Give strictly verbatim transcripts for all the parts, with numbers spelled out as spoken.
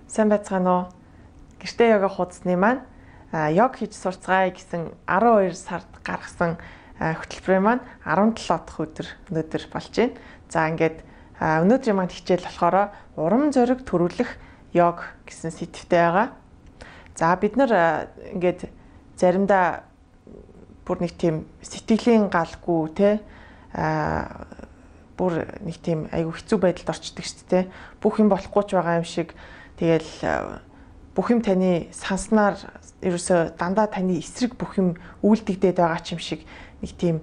Сайн байцгаана уу? Гэртээ йога хуудасны маань йог хийж сурцгаая гэсэн арван хоёр сард гаргасан хөтөлбөрийн маань арван долоо дахь өдөр өнөөдөр болж байна. За ингээд өнөөдрийн маань хичээл болохоор урам зориг төрүүлэх йог гэсэн сэдвтэй байгаа. За бид нар ингээд заримдаа бүр нэг тийм сэтгэлийн галгүй те а бүр нэг тийм айгүй хэцүү байдалд орчдөг шүү дээ. Бүх юм болохгүй ч байгаа юм шиг тэгэл бүх юм таны санснаар ерөөсө дандаа таны эсрэг бүх юм үйлдэгдээд байгаа ч юм шиг нэг тийм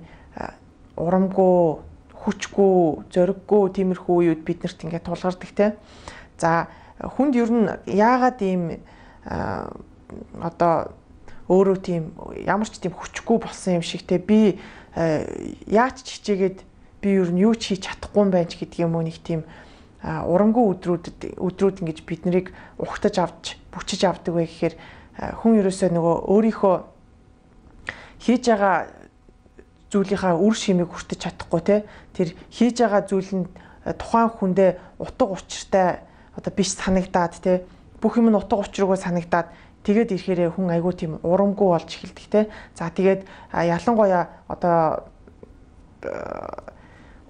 урамгүй, хүчгүй, зориггүй тиймэрхүү үеуд биднэрт ингээд тулгардаг те. За хүнд ер нь яагаад ийм одоо өөрөө тийм ямар ч тийм хүчгүй болсон юм шиг те би яаж ч хичээгээд би ер нь юу ч хийж чадахгүй юм байна ч гэдэг юм уу нэг тийм урамгүй өдрүүдэд өдрүүд ингэж бид нарыг ухтаж авч бүчиж авдаг вэ гэхээр хүн ерөөсөө нөгөө өөрийнхөө хийж байгаа зүйлийнхаа үр шимийг хүртэж чадахгүй те тэр хийж байгаа зүйл нь тухайн хүндээ утга учиртай одоо биш санагдаад те бүх юм нь утга учиргүй санагдаад тэгээд ирэхээр хүн айгүй тийм урамгүй болж эхэлдэг те. За тэгээд ялангуяа одоо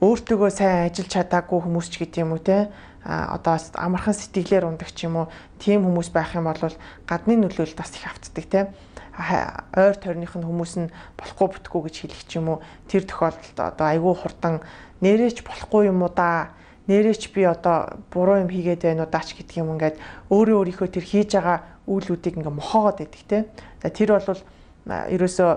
өөртөөгөө сайн ажиллаж чадаагүй хүмүүс ч гэдэг юм уу те а одоо амархан сэтгэлээр ундаг ч юм уу тийм хүмүүс байх юм бол гадны нөлөөлөлд бас их автдаг те ойр тойрных нь хүмүүс нь болохгүй бүтггүй гэж хэлэх ч юм уу тэр тохиолдолд одоо айгүй хурдан нэрээч болохгүй юм уу да нэрээч би одоо буруу юм хийгээд байна уу даач гэдэг юм ингээд өөрөө өөрийнхөө тэр хийж байгаа үйлүүдийг ингээ мохоогоод байдаг те тэр бол ерөөсөө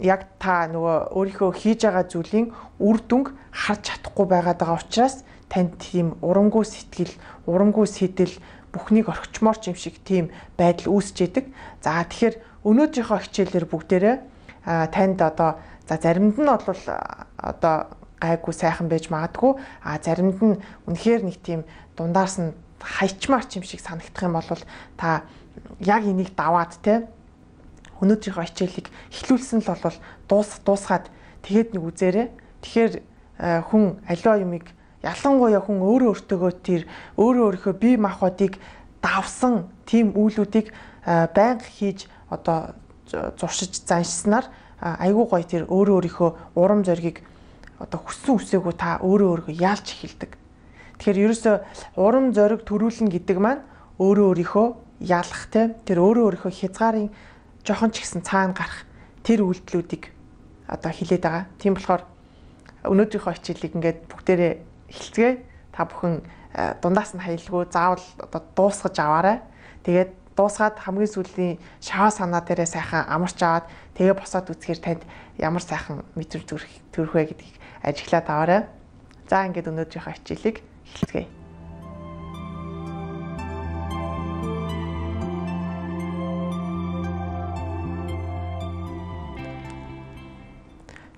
яг та нөгөө өөрийнхөө хийж байгаа зүйлийн үр дүнг харж чадахгүй байгаад байгаа учраас танд тийм урамгүй сэтгэл, урамгүй сэтэл бүхнийг орхичмоор ч юм шиг тийм байдал үүсэж идэг. За тэгэхээр өнөөдрийнхөө хичээлээр бүгдээрээ танд одоо за заримд нь бол одоо гайгүй сайхан байж магадгүй, а заримд нь үнэхээр нэг тийм дундаас нь хайчмаар ч юм шиг санагдах юм бол та яг энийг даваад те өнөөдрийнхөө хичээлийг эхлүүлсэн л бол дуус дуусгаад тэгээд нэг үзээрэй. Тэгэхээр хүн аливаа юмыг ялангуяа хүн өөрөө өөртөөгөө тэр өөрөө өөрийнхөө бие махбодыг давсан тийм үйлүүдийг байнга хийж одоо зуршиж заншснаар айгүй гоё тэр өөрөө өөрийнхөө урам зоригийг одоо хүссэн үсээгүй та өөрөө өөрийгөө яалж эхэлдэг. Тэгэхээр ерөөсөө урам зориг төрүүлнэ гэдэг маань өөрөө өөрийнхөө яалах те тэр өөрөө өөрийнхөө хязгаарын жохон ч гэсэн цаана гарах тэр үйлдэлүүдийг одоо хилээд байгаа. Тийм болохоор өнөөдрийнхөө хичээлийг ингээд бүгдээрээ эхэлцгээе. Та бүхэн дундаас нь хаялгүй заавал одоо дуусгаж аваарай. Тэгээд дуусгаад хамгийн сүүлийн шаваа санаа дээрээ сайхан амарч аваад тэгээ босоод үзэхээр танд ямар сайхан мэдрэмж төрөх вэ гэдгийг ажиглаад аваарай. За ингээд өнөөдрийнхөө хичээлийг эхэлцгээе.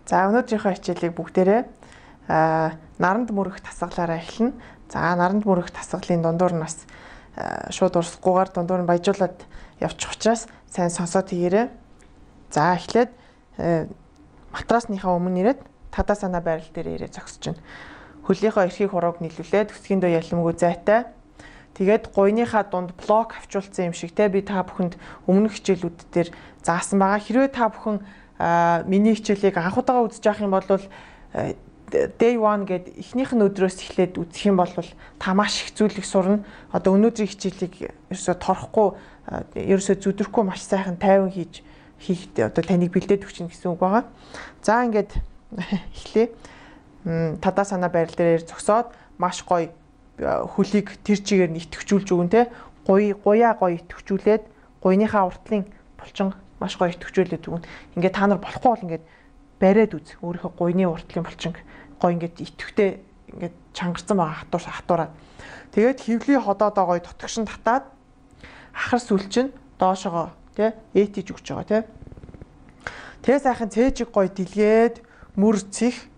За өнөөдрийнхөө хичээлийг бүгдээрээ наранд мөрөх тасгалаараа эхэлнэ. За наранд мөрөх тасгалын дундуур нь бас шууд урсахгүйгээр дундуур нь баяжуулаад явчих учраас сайн сонсоод хийгээрэй. За эхлээд матрасныхаа өмнө ирээд тадаа санаа байрал дээр ирээ зогсож байна. Хөлийнхөө эрхийг хурууг нийлүүлээд өсгийн дөө ялмгүй зайтай. Тэгээд гуйныхаа дунд блок авчуулсан юм шиг те би та бүхэнд өмнөх хичээлүүд дээр заасан байгаа. Хэрвээ та бүхэн миний хичээлийг анхудаага үзэж явах юм бол day one гэд эхнийх нь өдрөөс эхлээд үзэх юм бол та маш их зүйлийг сурна. Одоо өнөөдрийн хичээлийг ерөөсө торхгүй ерөөсө зүдрэхгүй маш сайхан тайван хийж хийх одоо таныг бэлдээд өгч гэсэн үг байгаа. За ингээд эхлэе. Тадаа санаа байрал дээр зогсоод маш гоё хөлийг тэр чигээр нь итгэвчүүлж өгөн те. Гуй гуяа гоё итгэвчүүлээд гуйныхаа уртлын булчин маш гоё итгэвчүүлээд өгнө. Ингээд та нар болохгүй бол ингээд бариад үз. Өөрийнхөө гуйны уртлын булчинг гоё ингээд итгэвтэй ингээд чангарсан байгаа хатуур хатуураад. Тэгээд хөвлийн ходоодоо гоё тутагшин татаад ахар сүл чинь доошогоо тий ээтиж өгч байгаа тий. Тэгээ сайхан цээжиг гоё дэлгээд мөр цих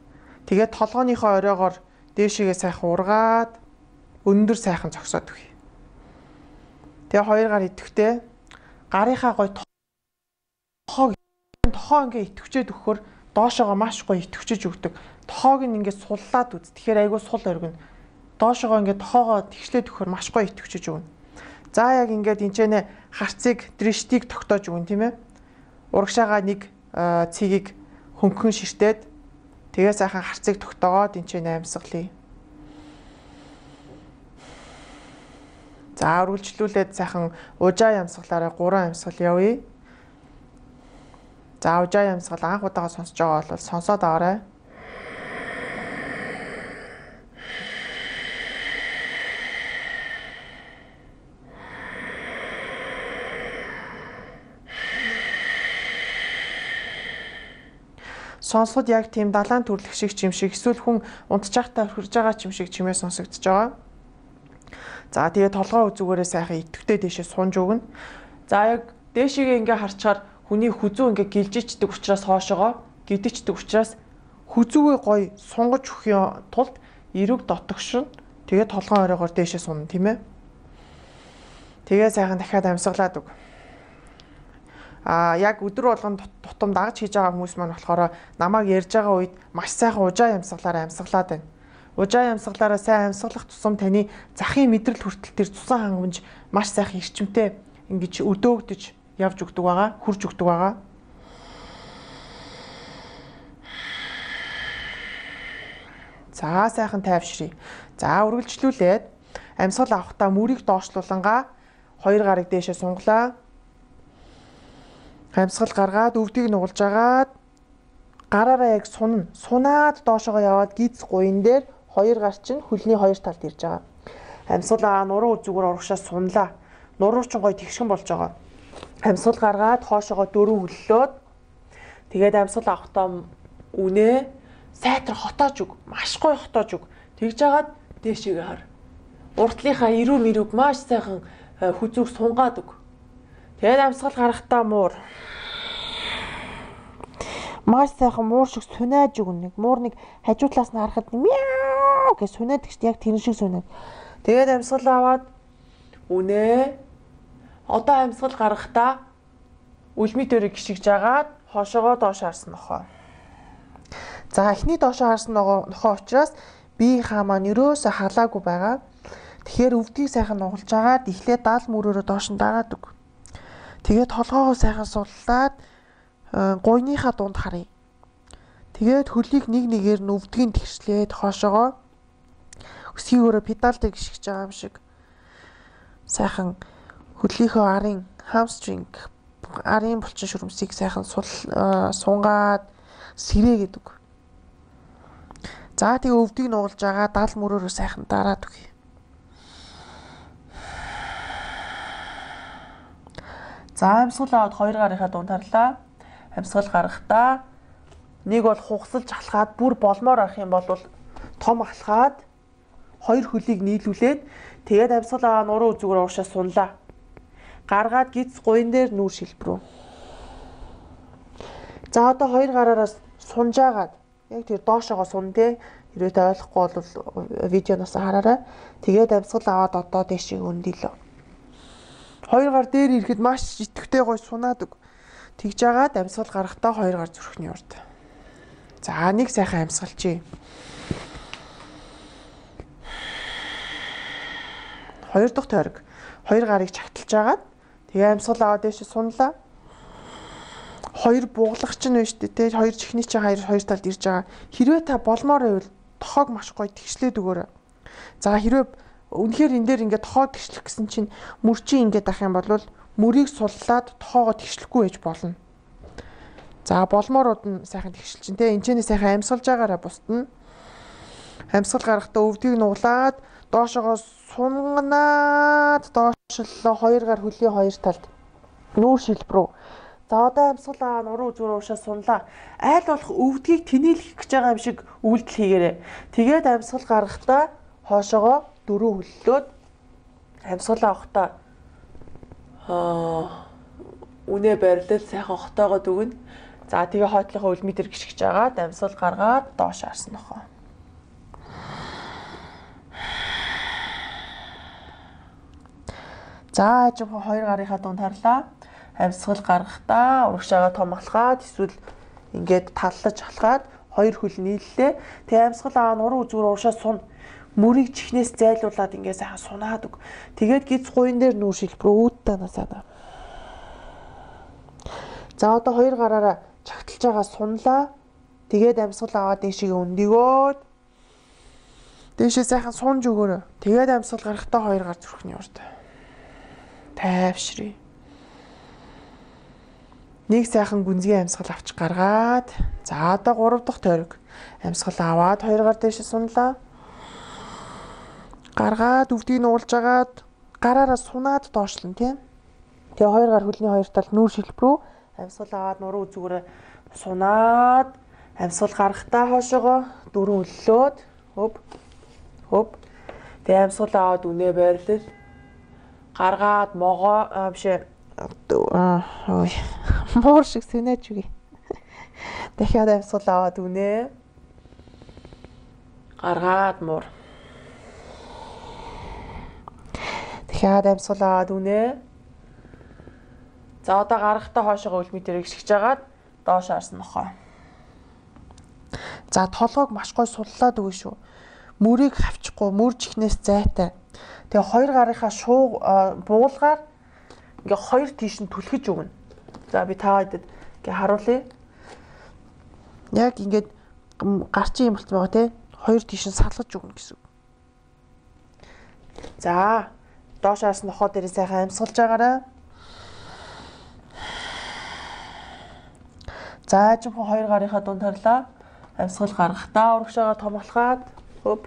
тэгээд толгойнхоо оройгоор дээшээгээ сайхан ургаад өндөр сайхан зогсоод өгье. Тэгээ хоёр гар идэвхтэй гарынхаа гоё тохоо тохоо ингээ идэвчээд өгөхөр доошоогоо маш гоё идэвчэж өгдөг. Тохоог нь ингээ суллаад үз. Тэгэхээр айгүй сул оргино. Доошоогоо ингээ тохоогоо тэгшлээд өгөхөр маш гоё идэвчэж өгнө. За яг ингээд энэчнэ харцыг дриштийг тогтоож өгөн тийм ээ. Урагшаага нэг цэгийг хөнгөн ширтээд тэгээ сайхан харцыг тогтоогоод энэчнэ амьсгалъя. За үргэлжлүүлээд сайхан ужаа ямсгалаараа гурван ямсгал явъя. За ужаа ямсгал анх удаага сонсож байгаа бол сонсоод аваарай. Сонсоход яг тийм далайн түрлэх шиг чим шиг эсвэл хүн унтчихтай хөрж байгаа чим шиг чимээ сонсогдож байгаа. За тэгээ толгоо үзүүгээрээ сайхан идэвхтэй дэшээ сунж өгнө. За яг дээшигээ ингээ харчаар хүний хүзүү ингээ гэлжичдэг учраас хоошоогоо гидичдэг учраас хүзүүгээ гоё сунгаж өгөхийн тулд эрэг дотогшин тэгээ толгоо оройгоор дээшээ сунна тийм ээ. Тэгээ сайхан дахиад амьсгалаад өг. А яг өдөр болгон тутам дагаж хийж байгаа хүмүүс маань болохоор намайг ярьж байгаа үед маш сайхан ужаа амьсгалаараа амьсгалаад байна. Ужаа ямсгалаараа сайн амьсгалах тусам таны захын мэдрэл хүртэл тэр цусан хангамж маш сайхан эрчимтэй ингэж өдөөгдөж явж өгдөг байгаа, хурж өгдөг байгаа. За сайхан тайвшрий. За үргэлжлүүлээд амьсгал авахдаа мөрийг доошлуулангаа хоёр гарыг дээшээ сунглаа. Амьсгал гаргаад өвдгийг нугалж агаад гараараа яг сунна. Сунаад доошоо яваад гиз гуйн дээр хоёр гар чинь хөлний хоёр талд ирж байгаа. Амьсгал нуруу үзүүгээр урагшаа сунлаа. Нуруу ч гоё тэгшгэн болж байгаа. Амьсгал гаргаад хоошоогоо дөрөв хөллөөд тэгээд амьсгал авахдаа үнэ сайтар хотоож өг. Маш гоё хотоож өг. Тэгж агаад дээшээгээ хар. Уртлынхаа ирүү мэрүүг маш сайхан хүзүүг сунгаад өг. Тэгээд амьсгал гарахдаа муур. Маш сайхан муур шиг сунааж өгнө. Муур нэг хажуу талаас нь харахад мяу гэж сүнээд гэж яг тэр шиг сүнээд. Тэгээд амьсгал аваад үнэ одоо амьсгал гарахдаа үлми төрөг гიშгж агаад хошоогоо доош харсан нохоо. За эхний доош харсан нохоо учраас биеийнхаа маань өрөөсө халаагүй байгаа. Тэгэхээр өвдгийг сайхан нугалж агаад эхлээд даал мөрөөрөө доош нь дагаад өг. Тэгээд толгоогоо сайхан суллаад гуйныхаа дунд харъя. Тэгээд хөлийг нэг нэгээр нь өвдгийн тэгшлээд хоошоогоо өсгийн өрөө педалтай гიშгэж байгаа юм шиг сайхан хөлийнхөө арын хамстринг арын булчин шүрмсийг сайхан сул сунгаад сэрээгээд өг. За тэгээ өвдгийг нугалж байгаа дал мөрөөрөө сайхан дараад өг. За амьсгал аваад хоёр гарынхаа дунд харлаа. Амьсгал гарахдаа нэг бол хугасалж алхаад бүр болмоор авах юм бол том алхаад хоёр хөлийг нийлүүлээд тэгээд амьсгал аваа нуруу үзүүгээр уушаа сунлаа. Гаргаад гиз гуйн дээр нүүр шилбрүү. За одоо хоёр гараараа сунжаагаад яг тэр доошоогоо сун тэ хэрвээ ойлгохгүй бол видеоноос хараарай. Тэгээд амьсгал аваад одоо дэшиг өндөлөө. Хоёр гар дээр ирэхэд маш итгэвтэй гой сунаад өг. Тэгж агаад амьсгал гарахдаа хоёр гар зүрхний урд. За нэг сайхан амьсгалчий. Хоёр дахь тойрог. Хоёр гарыг чагталж агаад тэгээ амьсгал аваад дэше сунлаа. Хоёр буглах чинь байна шүү дээ. Хоёр чихний чинь хоёр хоёр талд ирж байгаа. Хэрвээ та болмоор байвал тохоог маш гоё тэгшлээд өгөөрэй. За хэрвээ үнэхээр энэ дээр ингээд тохоо тэгшлэх гэсэн чинь мөрчийн ингээд ах юм бол мөрийг суллаад тохоогоо тэгшлэхгүй байж болно. За болмоорууд нь сайхан тэгшил чинь те энэ ч сайхан амьсгалж байгаараа бусдна. Амьсгал гарахдаа өвдгийг нуглаад доошоогоо сунганаад доошлоо хоёр гар хөлийн хоёр талд нүүр шилбрүү. За одоо амьсгал аа нуруу зүгээр уушаа сунлаа. Айл болох өвдгийг тэнээлэх гэж байгаа юм шиг үйлдэл хийгээрэй. Тэгээд амьсгал гарахдаа хоошоогоо дөрөв хөллөөд амьсгал авахдаа аа үнэ барилал сайхан хотоогоод өгнө. За тэгээ хойтлохоо үлмитер гიშгэж агаад амьсгал гаргаад доош харсан нохоо. За ажим хоёр гарынхаа дунд харлаа. Амьсгал гаргахдаа урагшаага том алхаад эсвэл ингээд таллаж алхаад хоёр хөл нийллээ. Тэгээ амьсгал аа нуруу зүгээр уушаа сун. Мөрийг чихнээс зайлуулад ингээ сайхан сунаад өг. Тэгээд гиз гуйн дээр нүүр шилбэр үүдтэй насаа. За одоо хоёр гараараа чагталж байгаа сунлаа. Тэгээд амьсгал аваад дэшигээ өндөгөөд дэшээ сайхан сунж өгөөрэй. Тэгээд амьсгал гарахтаа хоёр гар зүрхний урд. Тайвшрий. Нэг сайхан гүнзгий амьсгал авч гаргаад за одоо гурав дахь тойрог. Амьсгал аваад хоёр гар дэшээ сунлаа. Гаргаад өвдгийг нуулж агаад гараараа сунаад доошлон тийм. Тэгээ хоёр гар хөлний хоёр тал нүүр шилбэр рүү амьсгал аваад нуруу зүгээрээ сунаад амьсгал гарахтаа хоошоогоо дөрөв өллөөд хөп хөп тэгээ амьсгал аваад үнэ байрлал гаргаад могоо бишээ аа ой муур шиг сэнэж үгүй. Дахиад амьсгал аваад үнэ гаргаад муур дахиад амьсгал аваад үнэ. За одоо гарахтаа хоошоогоо үлмитээр гიშгэж агаад доош харсан нохоо. За толгойг маш гой суллаад өгнө шүү. Мөрийг хавчихгүй, мөр чихнээс зайтай. Тэгээ хоёр гарынхаа шуу буулгаар ингээ хоёр тийш нь түлхэж өгнө. За би таагаад ингээ харуулъя. Яг ингээд гарчин юм болт байгаа те. Хоёр тийш нь салгаж өгнө гэсэн. За доош харсан нохоо дээр сайхан амьсгалж агаарай. За жинхэнэ хоёр гарынхаа дунд харлаа. Амьсгал гаргахтаа урагшаага томглохаад хөп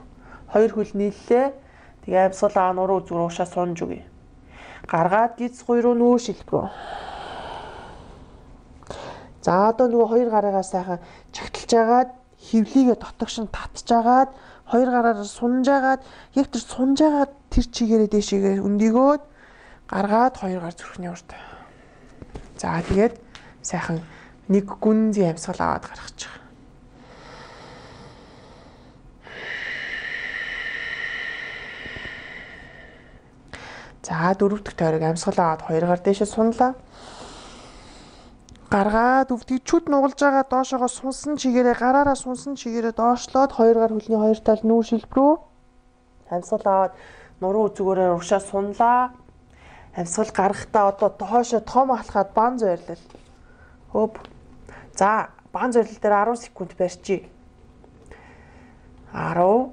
хоёр хөл нийллээ. Тэгээ амьсгал аа нуруу зүгээр уушаа сунж өгье. Гаргаад гиз гуй руу нүүр шилбэр. За одоо нөгөө хоёр гарыгаа сайхан чагталж агаад хөвлийгээ дотогш нь татж агаад хоёр гараараа сунж агаад яг тэр сунж агаад тэр чигээрээ дэшигээ өндөгөөд гаргаад хоёр гар зүрхний урд. За тэгээд сайхан нэг гүнзгий амьсгал аваад гаргачих. За дөрөв дэх тойрог амьсгал аваад хоёр гар дэшээ сунлаа. Гаргаад өвдгийг чүд нугалж байгаа доошоогоо сунсан чигээрээ гараараа сунсан чигээрээ доошлоод хоёр гар хөлний хоёр тал нүүр шилбэр рүү амьсгал аваад нуруу зүгээрээ урагшаа сунлаа. Амьсгал гарахтаа одоо доошоо том алхаад бан зойрлал. Хөп. За бан зойрлал дээр арван секунд барьчи. арав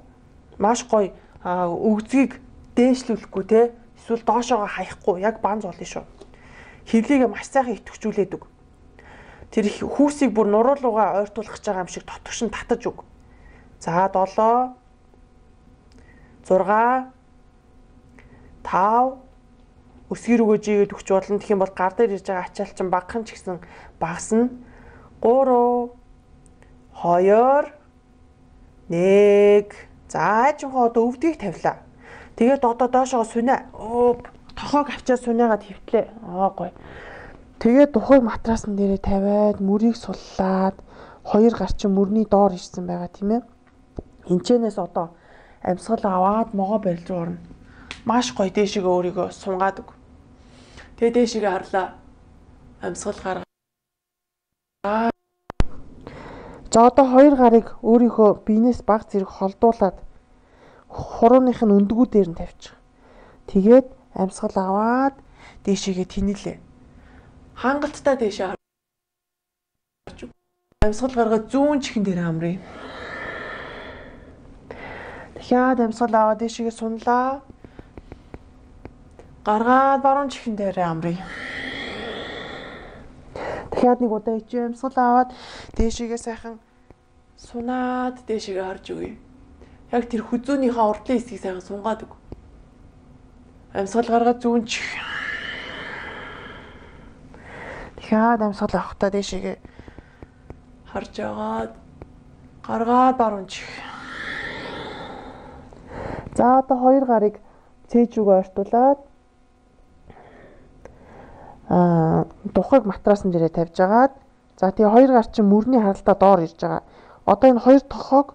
маш гоё өгзгийг дээшлүүлэхгүй те эсвэл доошоогоо хаяхгүй яг бан зоолно шүү. Хевлийгээ маш сайхан идэвхжүүлээд өг. Тэр хүүсийг бүр нуруулуугаа ойртуулах гэж байгаа юм шиг дотогш нь татаж өг. За долоо зурга тав өсгөр өгөөж игээд өгч болно. Тэгэх юм бол гар дээр ирж байгаа ачаалчин багхан ч гэсэн багасна. гурав хоёр нэг за жинхэнэ одоо өвдгийг тавилаа. Тэгээд одоо доошоо сүнэ. Өө тохоог авчаад сүнэгаад хөвтлээ. Аа гоё. Тэгээд тухайг матрасан дээрээ тавиад мөрийг суллаад хоёр гарчин мөрний доор ирсэн байгаа тийм ээ. Энчэнээс одоо амьсгал аваад могоо барилж орно. Маш гоё дээшгээ өөрийгөө сунгаад өг. Тэгээд дээшгээ харлаа. Амьсгал гаргаа. За одоо хоёр гарыг өөрийнхөө биенээс баг зэрэг холдуулаад хурууных нь өндгүүдээр нь тавьчих. Тэгээд амьсгал аваад дээшээгээ тэнэлээ. Хангалттай дээшээ харж. Амьсгал гаргаад зүүн чихэн дээр амрыг. Дахиад амьсгал аваад дээшээгээ сунлаа. Гаргаад баруун чихэн дээр амрыг. Дахиад нэг удаа ичээ амьсгал аваад дээшээгээ сайхан сунаад дээшээгээ харж өгье. Яг тэр хүзүүнийхээ урдлын хэсгийг сайхан сунгаад өг. Амьсгал гаргаад зүүн чих. Дахиад амьсгал авахтаа дээшээгээ харж агаад гаргаад баруун чих. За одоо хоёр гарыг цээж рүүгээ ойртуулад аа тухайг матрасан дээрээ тавьж агаад за тэгээ хоёр гар чинь мөрний харалтаа доор ирж байгаа. Одоо энэ хоёр тохоог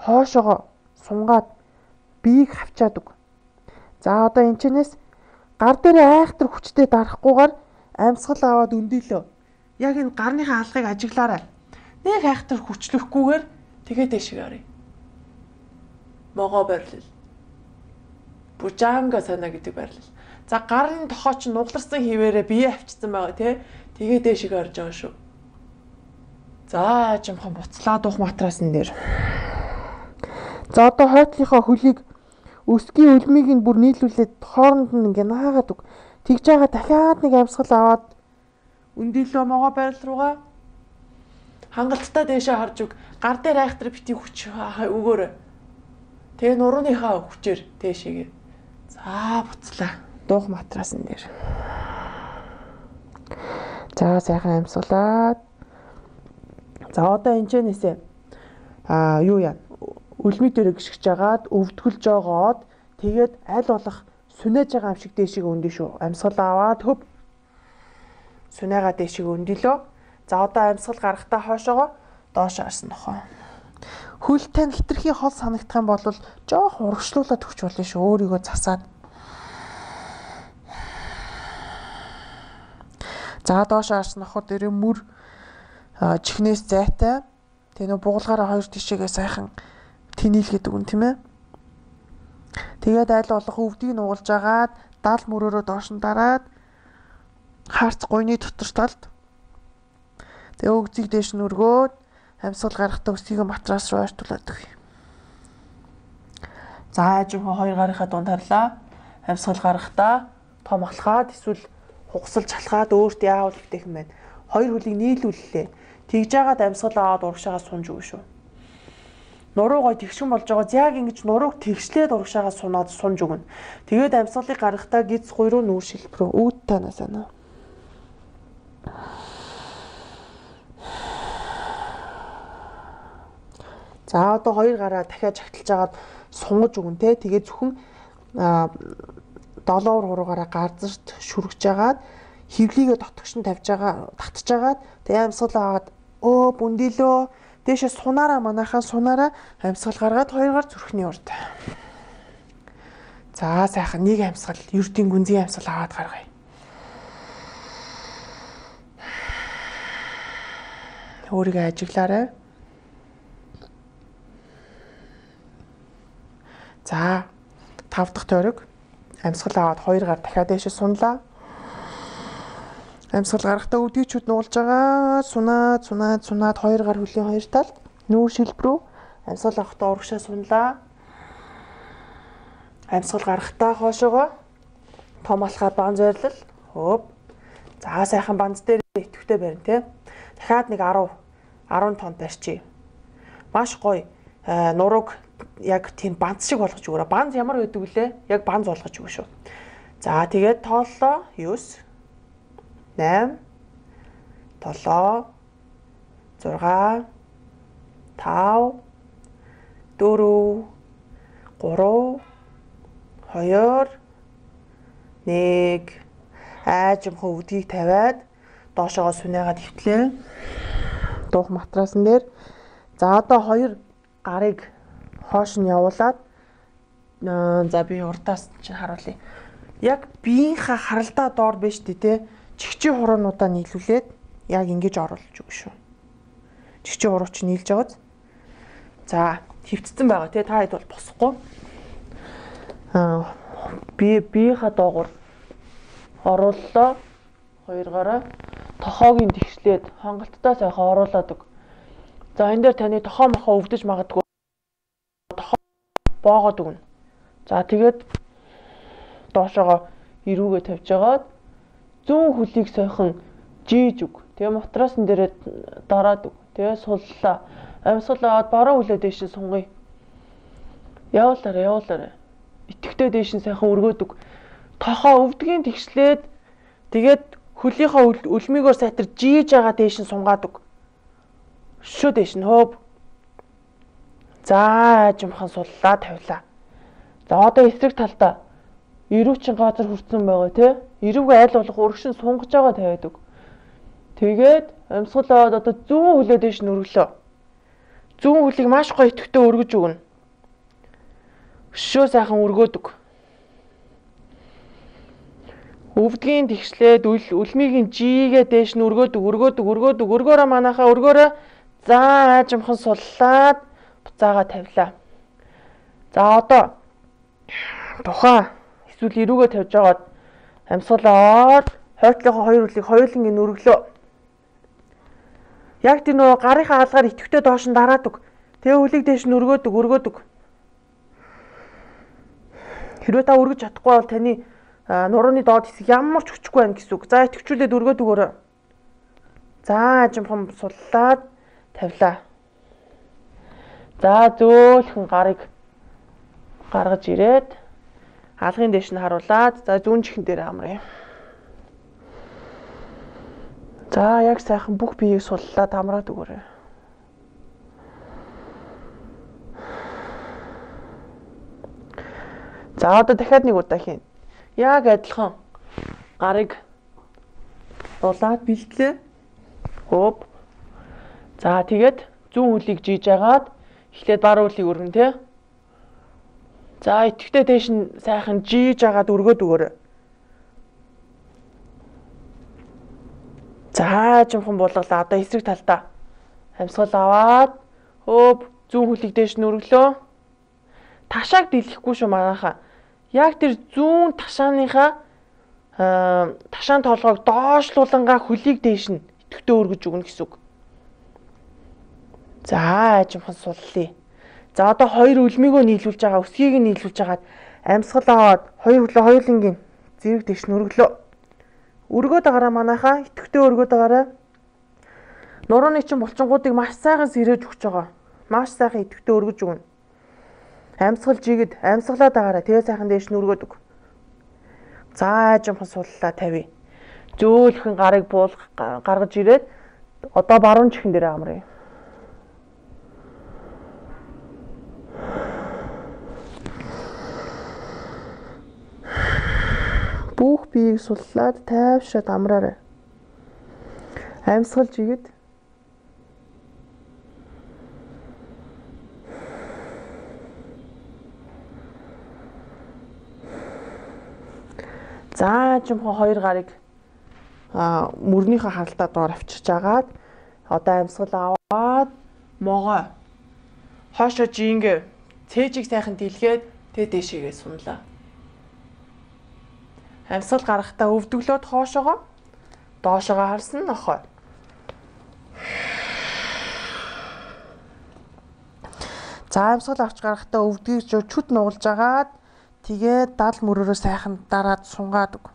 хоошоогоо сунгаад биеийг хавчаад өг. За одоо энэчнээс гар дээр айхтар хүчтэй дарахгүйгээр амьсгал аваад өндөлөө. Яг энэ гарныхаа алгыг ажиглаарай. Нэг айхтар хүчлэхгүйгээр тэгээд дэшиг харъя. могоо барилал. Бужангасана гэдэг барилал. За гарын тохоо ч нугларсан хിവэрээ бие авчсан байгаа тий. Тэгээ дээшиг орж байгаа шүү. За жимхан буцлаа дух матрасан дээр. За одоо хойтлынхоо хөлийг өсгийн үлмийг нь бүр нийлүүлээд хооронд нь ингээ наагаад өг. Тэгж байгаа дахиад нэг амьсгал аваад өндөлөө могоо барил руугаа хангалттай дээшээ харж өг. Гар дээр айхтар бити хүч өгөөрэй. Тэгээ нурууныхаа хүчээр дээшээгээ. За буцлаа дух матрасан дээр. За сайхан амьсгалаад. За одоо энэчнээсээ аа юу яа үлмий дээр гიშгэж жагаад өвдгөлж жогоод тэгээд аль болох сүнэж байгаа юм шиг дээшээ өндөө шүү. Амьсгал аваад хөв сүнэгаа дээшээ өндөлөө. За одоо амьсгал гарахтаа хоошоогоо доош харсан нохоо. Хөл тань хитрхийн хол санагдах юм бол жоох урагшлуулаад өгч болно шүү. Өөрийгөө засаад. За доош харсан нохоо дээр мөр чихнээс зайтай. Тэгээ нөө бугуулгаараа хоёр тишээгээ сайхан тэнийлгээд өгөн тийм ээ. Тэгээд аль болох өвдгийг нугалж агаад дал мөрөөрөө доош нь дараад харц гойны дотор талд. Тэгээ өгзийг дээш нь өргөөд амьсгал гарахтаа өсгийг матрас руу ойртуулад өгье. За жинхэнэ хоёр гарынхаа дунд харлаа. Амьсгал гарахтаа том алхаад эсвэл хугасалж халахад өөрт яавал хэвтэх юм байна. Хоёр хөлийг нийлүүллээ. Тэгж жагаад амьсгал аваад урагшаагаа сунж өгнө шүү. Нуруу гой тэгшин болж байгаа. Яг ингэж нурууг тэгшлээд урагшаагаа сунаад сунж өгнө. Тэгээд амьсгалыг гаргахтаа гиз гуйруу нүүр шилбэрөө үүд танаа санаа. За одоо хоёр гараа дахиад жагталж агаад сунгаж өгнө те. Тэгээд зөвхөн долоор хуруугаараа гарзарт шүргэж агаад хевлийгээ дотгош нь тавьж байгаа татж агаад тэгээ амьсгал аваад өө бүндилөө дээшээ сунаараа манайхаа сунаараа амьсгал гаргаад хоёр гар зүрхний урд. За сайхан нэг амьсгал ердийн гүнзгий амьсгал аваад гаргая. Өөрийгөө ажиглаарай. За тав дахь тойрог амьсгал аваад хоёр гар дахиад дээшээ сунлаа. Амьсгал гарахтаа өвдгийчүүд нуулж байгаа. Сунаад, сунаад, сунаад хоёр гар хөлийн хоёр талд нүүр шилбэрүү амьсгал авахтаа урагшаа сунлаа. Амьсгал гарахтаа хоошоогоо том алхаад бан зойрлал. Хөөп. За сайхан банз дээр идэвхтэй барина те. Дахиад нэг десять десять тонн барьчи. Маш гоё нурууг яг тийм банз шиг болгож өгөөрэй. Банз ямар байдаг вүлээ? Яг банз болгож өгнө шүү. За тэгээд тооллоо девять восемь семь шесть пять четыре три хоёр нэг аажимхан өвдгийг тавиад доошоогоо сүнээгээд хөвтлээ. Дух матрасан дээр. За одоо хоёр гарыг хоош нь явуулаад за би урдаас чинь харуулъя. Яг биеийнхаа харалдаа доор биш тий те. Чихчийн хуруунуудаа нийлүүлээд яг ингэж оруулж өгнө шүү. Чихчийн хуруу чинь нийлж байгааз. За хөвцсөн байгаа тий та хэд бол босохгүй. Аа би биеийнхаа доогуур орууллаа. Хоёр гараа тохоогийн тэгшлээд хангалттай сайхан оруулаад өг. За энэ дээр таны тохоо мохоо өвдөж магадгүй. Тохоо боогоод өгнө. За тэгээд доошоогоо эрүүгээ тавьж агаад зүүн хөлийг сойхон жийж өг. Тэгээ матрасан дээрээ дараад өг. Тэгээ суллаа. Амьсгал аваад баруун хөлөө дээш сунгая. Явуулаарай, явуулаарай. Итгэвтэй дээш нь сайхан өргөөд өг. Тохоо өвдгийн тэгшлээд тэгээд хөлийнхөө үлмигөө сайтар жийж байгаа дээш нь сунгаад өг. Шөө дээш нь хөөв. За жимхан суллаа тавилаа. За одоо эсрэг талдаа эрүүчин газар хүрсэн байгаа тий. Эрүүгээ аль болох өргөшин сунгаж байгаа тавиад өг. Тэгээд амьсгал аваад одоо зүүн хөлөө дээш нь өргөлөө. Зүүн хөлийг маш гоё итгэвтэй өргөж өгнө. Шөө сайхан өргөөд өг. Өвдгийн тэгшлээд үлмигийн жигээ дээш нь өргөөд өг, өргөөд өг, өргөөд өг, өргөөрөө манайхаа өргөөрөө. За аажимхан суллаад буцаага тавилаа. За одоо тухай эсвэл эрүүгээ тавьж байгаад амьсгал аваад хойтлынхоо хоёр үлийг хоёуланг ин өргөлөө. Яг тэр нөгөө гарынхаа хаалгаар итгэвтэй доош нь дараадаг. Тэгээ үлийг дээш нь өргөөдөг, өргөөдөг. Хэрвээ та өргөж чадахгүй бол таны нурууны доод хэсэг ямар ч хүчгүй байна гэсэн үг. За итгэвчүүлээд өргөөдөг өөрөө. За ажимхан суллаад тавилаа. За зөөлхөн гарыг гаргаж ирээд хаалгын дээш нь харуулад за зүүн чихэн дээр амръя. За яг сайхан бүх биеийг суллаад амраад өгөөрэй. За одоо дахиад нэг удаа хийн. Яг адилхан гарыг дулаад бэлтлээ. Хоп. За тэгээд зүүн хөлийг жийж агаад эхлээд бар хөлийг өргөн тий. За итгэвтэй дээш нь сайхан жийж агаад өргөөд өгөөрэй. За жимхэн булгалаа. Одоо эсрэг талдаа амьсгал аваад хөөп зүүн хөлийг дээш нь өргөлөө. Ташааг дэлгэхгүй шүү манайхаа. Яг тэр зүүн ташааныхаа ташаан толгойг доошлуулангаа хөлийг дээш нь итгэвтэй өргөж өгнө гэсэн үг. За жимхэн суллаа. За одоо хоёр үлмийгөө нийлүүлж байгаа, өсгийг нь нийлүүлж хагаад амьсгал аваад хоёр хөлөө хоёулангийн зэрэг дээш нь өргөлөө. Өргөөд агараа манайхаа итгэвтэй өргөөд агараа. Нурууны чин булчингуудыг маш сайхан сэрэж өгч байгаа. Маш сайхан итгэвтэй өргөж өгнө. Амьсгал жигэд амьсгалаад агараа. Тэгээ сайхан дээш нь өргөөд өг. За жимхэн суллаа тавь. Зөөлхөн гарыг буул гаргаж ирээд одоо баруун чихэн дээр амръя. Бүх биеийг суллаад тайвшраад амраарай. Амьсгал жигэд. За жимхэн хоёр гарыг а мөрнийхөө харалтаа доор авчирч агаад одоо амьсгал аваад могоо хоошо жингээ цээжийг сайхан дэлгээд тэгээ дээшээгээ сунлаа. Амьсгал гаргахтаа өвдөглөөд хоошоогоо доошоогоо харсан нохой. За амьсгал авч гаргахтаа өвдгийг чүд нугалж агаад тэгээд дал мөрөөрөө сайхан дараад сунгаад өг.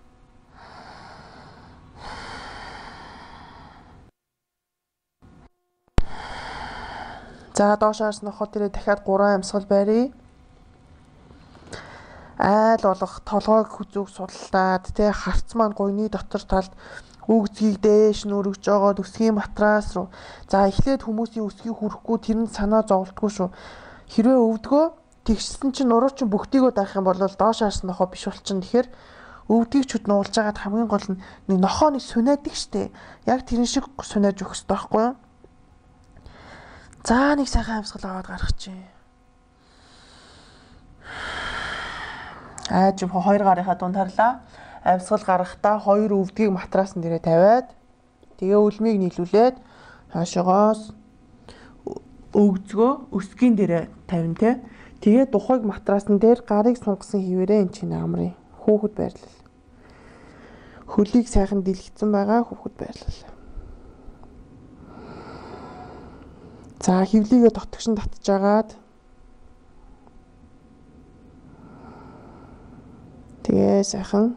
За доошоос нохоо тэрэ дахиад гурван амьсгал барья. Айл болох толгойг хүзүүг суллаад тэ харц маань гойны дотор талд үгзгийг дээш нь өргөж жогоод өсгийн матрас руу. За эхлээд хүмүүсийн өсгийг хүрэхгүй тэр нь санаа зовлтгүй шүү. Хэрвээ өвдгөө тэгшсэн чинь нуруу чинь бүгдийгөө даах юм бол доошоос нохоо биш болчихно. Тэгэхээр өвдгийг чүд нуулж агаад хамгийн гол нь нэг нохоо нэг сунаадаг штэ. Яг тэрэн шиг сунааж өгөх хэрэгтэй байхгүй юу? За нэг сайхан амьсгал аваад гаргах чинь. Аа жим хоёр гарынхаа дунд харлаа. Амьсгал гаргахдаа хоёр өвдгийг матрасан дээрээ тавиад тэгээ үлмийг нийлүүлээд хаашаагаас өвгзгөө өсгийн дээрээ тавина те. Тэгээ тухайг матрасан дээр гарыг сунгасан хിവэрээ эн чинь амрын хүүхэд байрлал. Хөлийг сайхан дэлгэцэн байгаа хүүхэд байрлал. За хөвлийгээ дотгошин татж агаад тэгээ сайхан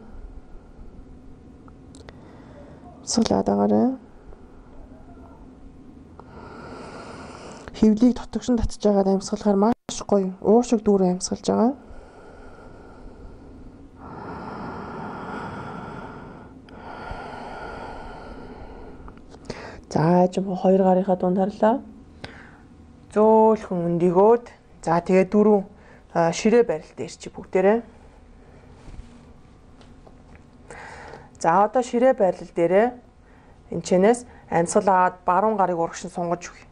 суулаад агараа. Хөвлийг дотгошин татж агаад амьсгалахаар маш гоё уушиг дүүрэн амьсгалж байгаа. За жим хоёр гарынхаа дунд харлаа. Зөөлхөн өндөгөөд за тэгээ дөрөв ширээ барилт ирчих бүгдээрээ. За одоо ширээ байрлал дээрээ энэчнээс амьсгал аваад баруун гарыг урагшин сунгаж өгье.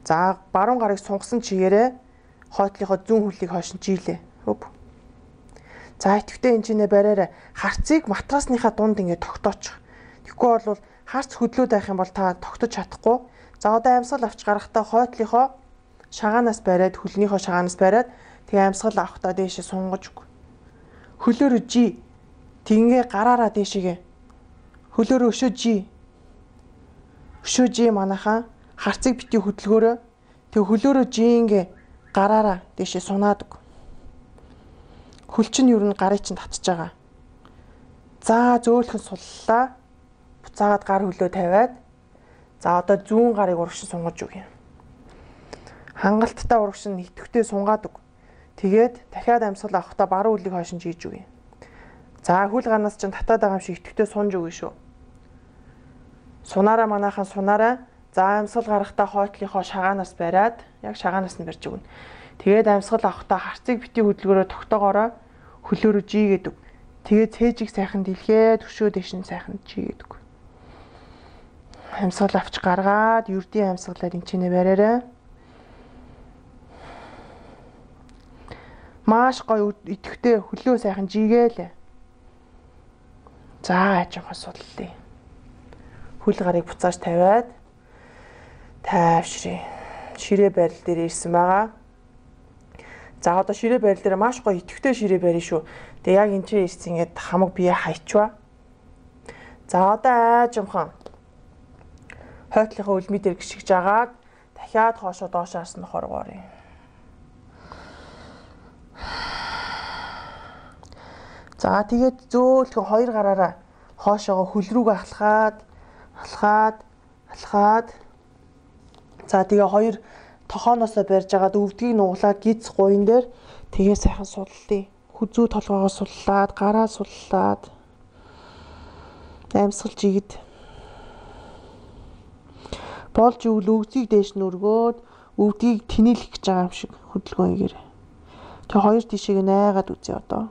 За баруун гарыг сунгасан чигээрээ хойтлынхоо зүүн хөлийг хойш нь жийлээ. Өв. За итгэвтэй энэчнээ бариараа харцыг матрасныхаа дунд ингээд тогтоочих. Тэгэхгүй бол харц хөдлөөд байх юм бол та тогтож чадахгүй. За одоо амьсгал авч гарахдаа хойтлынхоо шагаанаас бариад хөлнийхөө шагаанаас бариад тэгээ амьсгал авахдаа дээшээ сунгаж өг. Хөлөөрөө жи. Тингээ гараараа дээшээгээ. Хөлөөрөө өшөө жи. Өшөө жи манайхаа харцыг бити хөдөлгөөрөө тэг хөлөөрөө жингээ гараараа дээшээ сунаад өг. Хөл чинь юу н гарыг чинь татж байгаа. За зөөлхөн суллаа. Буцаагаад гар хөлөө тавиад за одоо зүүн гарыг урагшин сунгаж өг юм. Хангалттай урагшин идэвхтэй сунгаад өг. Тэгээд дахиад амьсгал авахдаа баруун үлийг хойш нь жийж өг юм. За хөл гарнаас чинь татаад байгаа юм шиг идэвхтэй сунж өгнө шүү. Сунаараа манайхан сунаараа за амьсгал гарахдаа хойтлынхоо шагаанаас бариад яг шагаанаас нь барьж өгнө. Тэгээд амьсгал авахдаа харцыг бити хөдөлгөөрөө тогтоогоороо хөлөөрөө жигээд өг. Тэгээд цээжийг сайхан дэлгээд өшөө дэш нь сайхан жигээд өг. Амьсгал авч гаргаад ердийн амьсгалаар энэ чинээ бариараа. Маш гоё идэвхтэй хөлөө сайхан жигээл. За ажимхан судлаа. Хөл гарыг буцааж тавиад тайвшрээ. Ширээ барил дээр ирсэн байгаа. За одоо ширээ барил дээр маш гоё идэвхтэй ширээ барина шүү. Тэгээ яг энэ чинь ирсэн ингээд хамаг бие хайчваа. За одоо ажимхан хойтлынхаа үлми дээр гიშгэж агаад дахиад хоошоо доош харсан хоргоорё. За тэгээд зөөлхөн хоёр гараараа хоошоогоо хөл рүүгээ алхаад алхаад алхаад за тэгээ хоёр тохооноосоо барьж агаад өвдгийг нуглаад гиз гуйн дээр тэгээ сайхан суллаа. Хүзүү толгоогоо суллаад гараа суллаад амьсгал жигд болж өвл өвдгийг дээш нь өргөөд өвдгийг тэнэлэх гэж байгаа юм шиг хөдөлгөөнгээр. Тэгээ хоёр тишээг найгаад үзье одоо.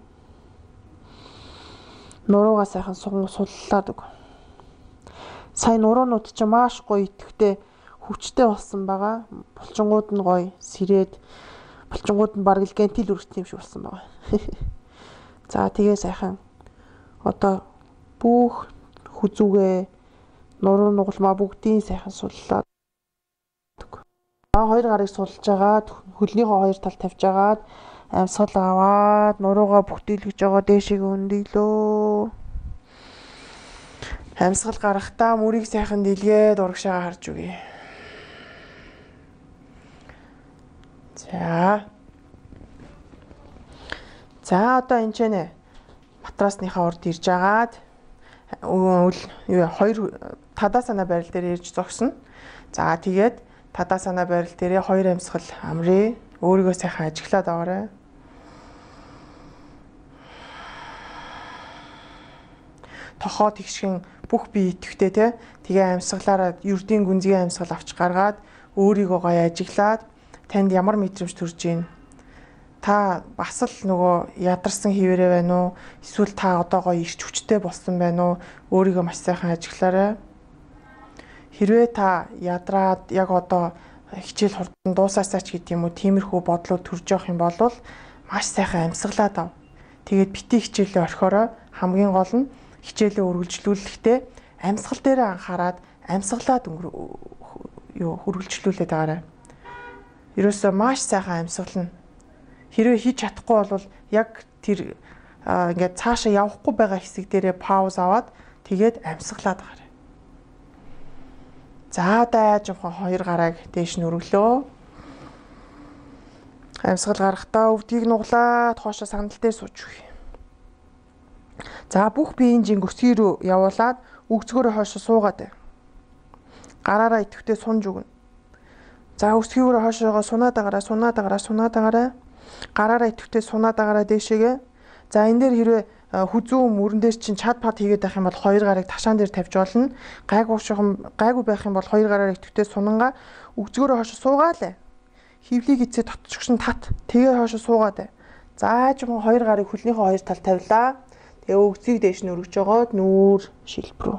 Нуруугаа сайхан суллаад өг. Сайн нуруунууд ч маш гоё идэвхтэй хүчтэй болсон байгаа. Булчингууд нь гоё сэрээд булчингууд нь бараг л гентил үргэлт юм шиг болсон байгаа. За тэгээ сайхан одоо бүх хүзүүгээ нуруу нугалмаа бүгдийн сайхан суллаад. За хоёр гарыг сулж агаад хөлнийхөө хоёр тал тавьж агаад амьсгал аваад нуруугаа бүхтэлгэж байгаа дээшээ өндөглөө. Амьсгал гарахдаа мөрийг сайхан дэлгээд урагшаа харж үгэй. За. За одоо энэ ч нэ матрасныхаа урд ирж агаад юу хоёр тадаа санаа барил дээр ирж зогсно. За тэгээд тадаа санаа барил дээрээ хоёр амьсгал амрээ. Өөрийгөө сайхан ажиглаад аваарай. Тохоо тэгшгэн бүх бие идэвхтэй те. Тэгээ амьсгалаараа ердийн гүнзгий амьсгал авч гаргаад өөрийгөө гоё ажиглаад танд ямар мэдрэмж төрж гин. Та бас л нөгөө ядарсан хിവэрэ байна уу? Эсвэл та одоо гоё ирч хүчтэй болсон байна уу? Өөрийгөө маш сайхан ажиглаарай. Хэрвээ та ядраад яг одоо хичээл хурдан дуусаасаа ч гэдэг юм уу тиймэрхүү бодлууд төрж явах юм бол маш сайхан амьсгалаад ав. Тэгээд бити хичээлээ орхиороо хамгийн гол нь хичээлээ үргэлжлүүлэхдээ амьсгал дээр анхаарад амьсгалаад юу үргэлжлүүлээд байгаарай. Ерөөсөө маш сайхан амьсгална. Хэрвээ хийж чадахгүй бол яг тэр ингээд цаашаа явахгүй байгаа хэсэг дээрээ пауз аваад тэгээд амьсгалаад байгаарай. За одоо аажимхан хоёр гарааг дээш нь өргөлөө. Амьсгал гарахдаа өвдгийг нуглаад хоошоо сандал дээр сууж өгье. За бүх биеийн жинг өсгий рүү явуулаад өгцгөөрөө хоошоо суугаад. Гараараа идэвхтэй сунж өгнө. За өсгийгөө хоошоогоо сунаад агараа, сунаад агараа, сунаад агараа. Гараараа идэвхтэй сунаад агараа дээшээгээ. За энэ дээр хэрвээ хүзүү мөрөн дээр чинь чад пад хийгээд байх юм бол хоёр гарыг ташаан дээр тавьж болно. Гайгүй шугам гайгүй байх юм бол хоёр гараар идэвхтэй сунангаа өгцгөөрөө хоошоо суугаалаа. Хөвлийг эцээ тотчгшин тат. Тэгээ хоошоо суугаад. За жимэн хоёр гарыг хөлнийхөө хоёр тал тавилаа. Тэгээ өгцгийг дээш нь өргөж жогоод нүүр шилбрүү.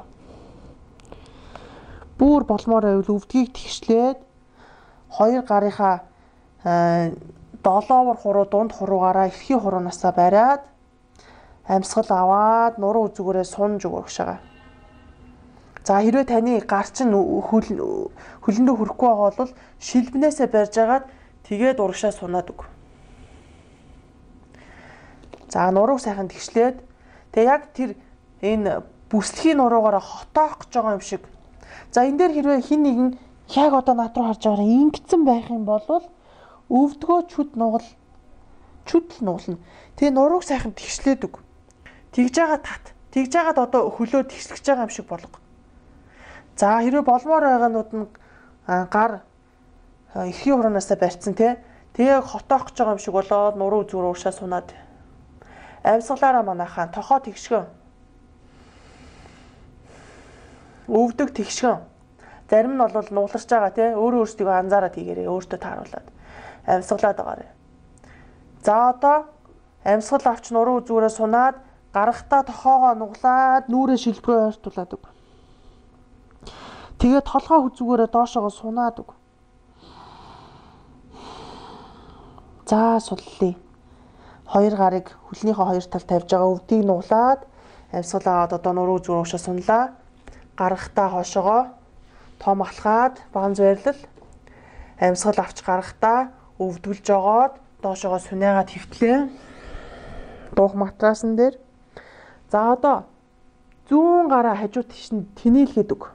Бүр болмоор байвал өвдгийг тэгшлээд хоёр гарынхаа долоовор хуруу дунд хуруугаараа эрхий хуруунаасаа бариад амьсгал аваад нуруу үзүүгээрээ сунж өгөргшаага. За хэрвээ таны гар чинь хөлөндөө хүрэхгүй байгаа бол шилбнээсээ барьж агаад Тэгээд урагшаа сунаад өг. За нурууг сайхан тэгшлээд тэгээ яг тэр энэ бүслэхийн нуруугаараа хотоох гэж байгаа юм шиг. За энэ дээр хэрвээ хин нэгэн яг одоо над руу харж байгаа ингэсэн байх юм бол өвдгөө чүд нугал чүд л нуулна. Тэгээ нурууг сайхан тэгшлээд өг. Тэгж байгаа тат. Тэгж байгаад одоо хөлөө тэгслэж байгаа юм шиг болго. За хэрвээ болмоор байгаанууд нь гар эрхийн хураанаасаа барьцсан тий. Тэгээ хотоох гэж байгаа юм шиг болоод нуруу зүгээр уушаа сунаад. Амьсгалаараа манайхаа тохоо тэгшгэн. Өвдөг тэгшгэн. Зарим нь бол нууларч байгаа тий. Өөрөө өөрсдөө анзаараад хийгээрээ өөртөө тааруулаад амьсгалаад байгаарэ. За одоо амьсгал авч нуруу зүгээрээ сунаад гарахтаа тохоогоо нуглаад нүрээ шилбгөө ойртуулад өг. Тэгээд толгой хүзүүгээрээ доошоогоо сунаад өг. За суллаа. Хоёр гарыг хөлнийхөө хоёр талд тавьж байгаа өвдгийг нуглаад амьсгал аваад одоо нуруу зүрх уушаа сунлаа. Гарахтаа хоошоогоо том алхаад баан зөрлөл амьсгал авч гарахтаа өвдгөлж жогоод доошоогоо сүнээгаад хөвтлээ. Дуух матрасан дээр. За одоо зүүн гараа хажуу тийш нь тэнээлгээд өг.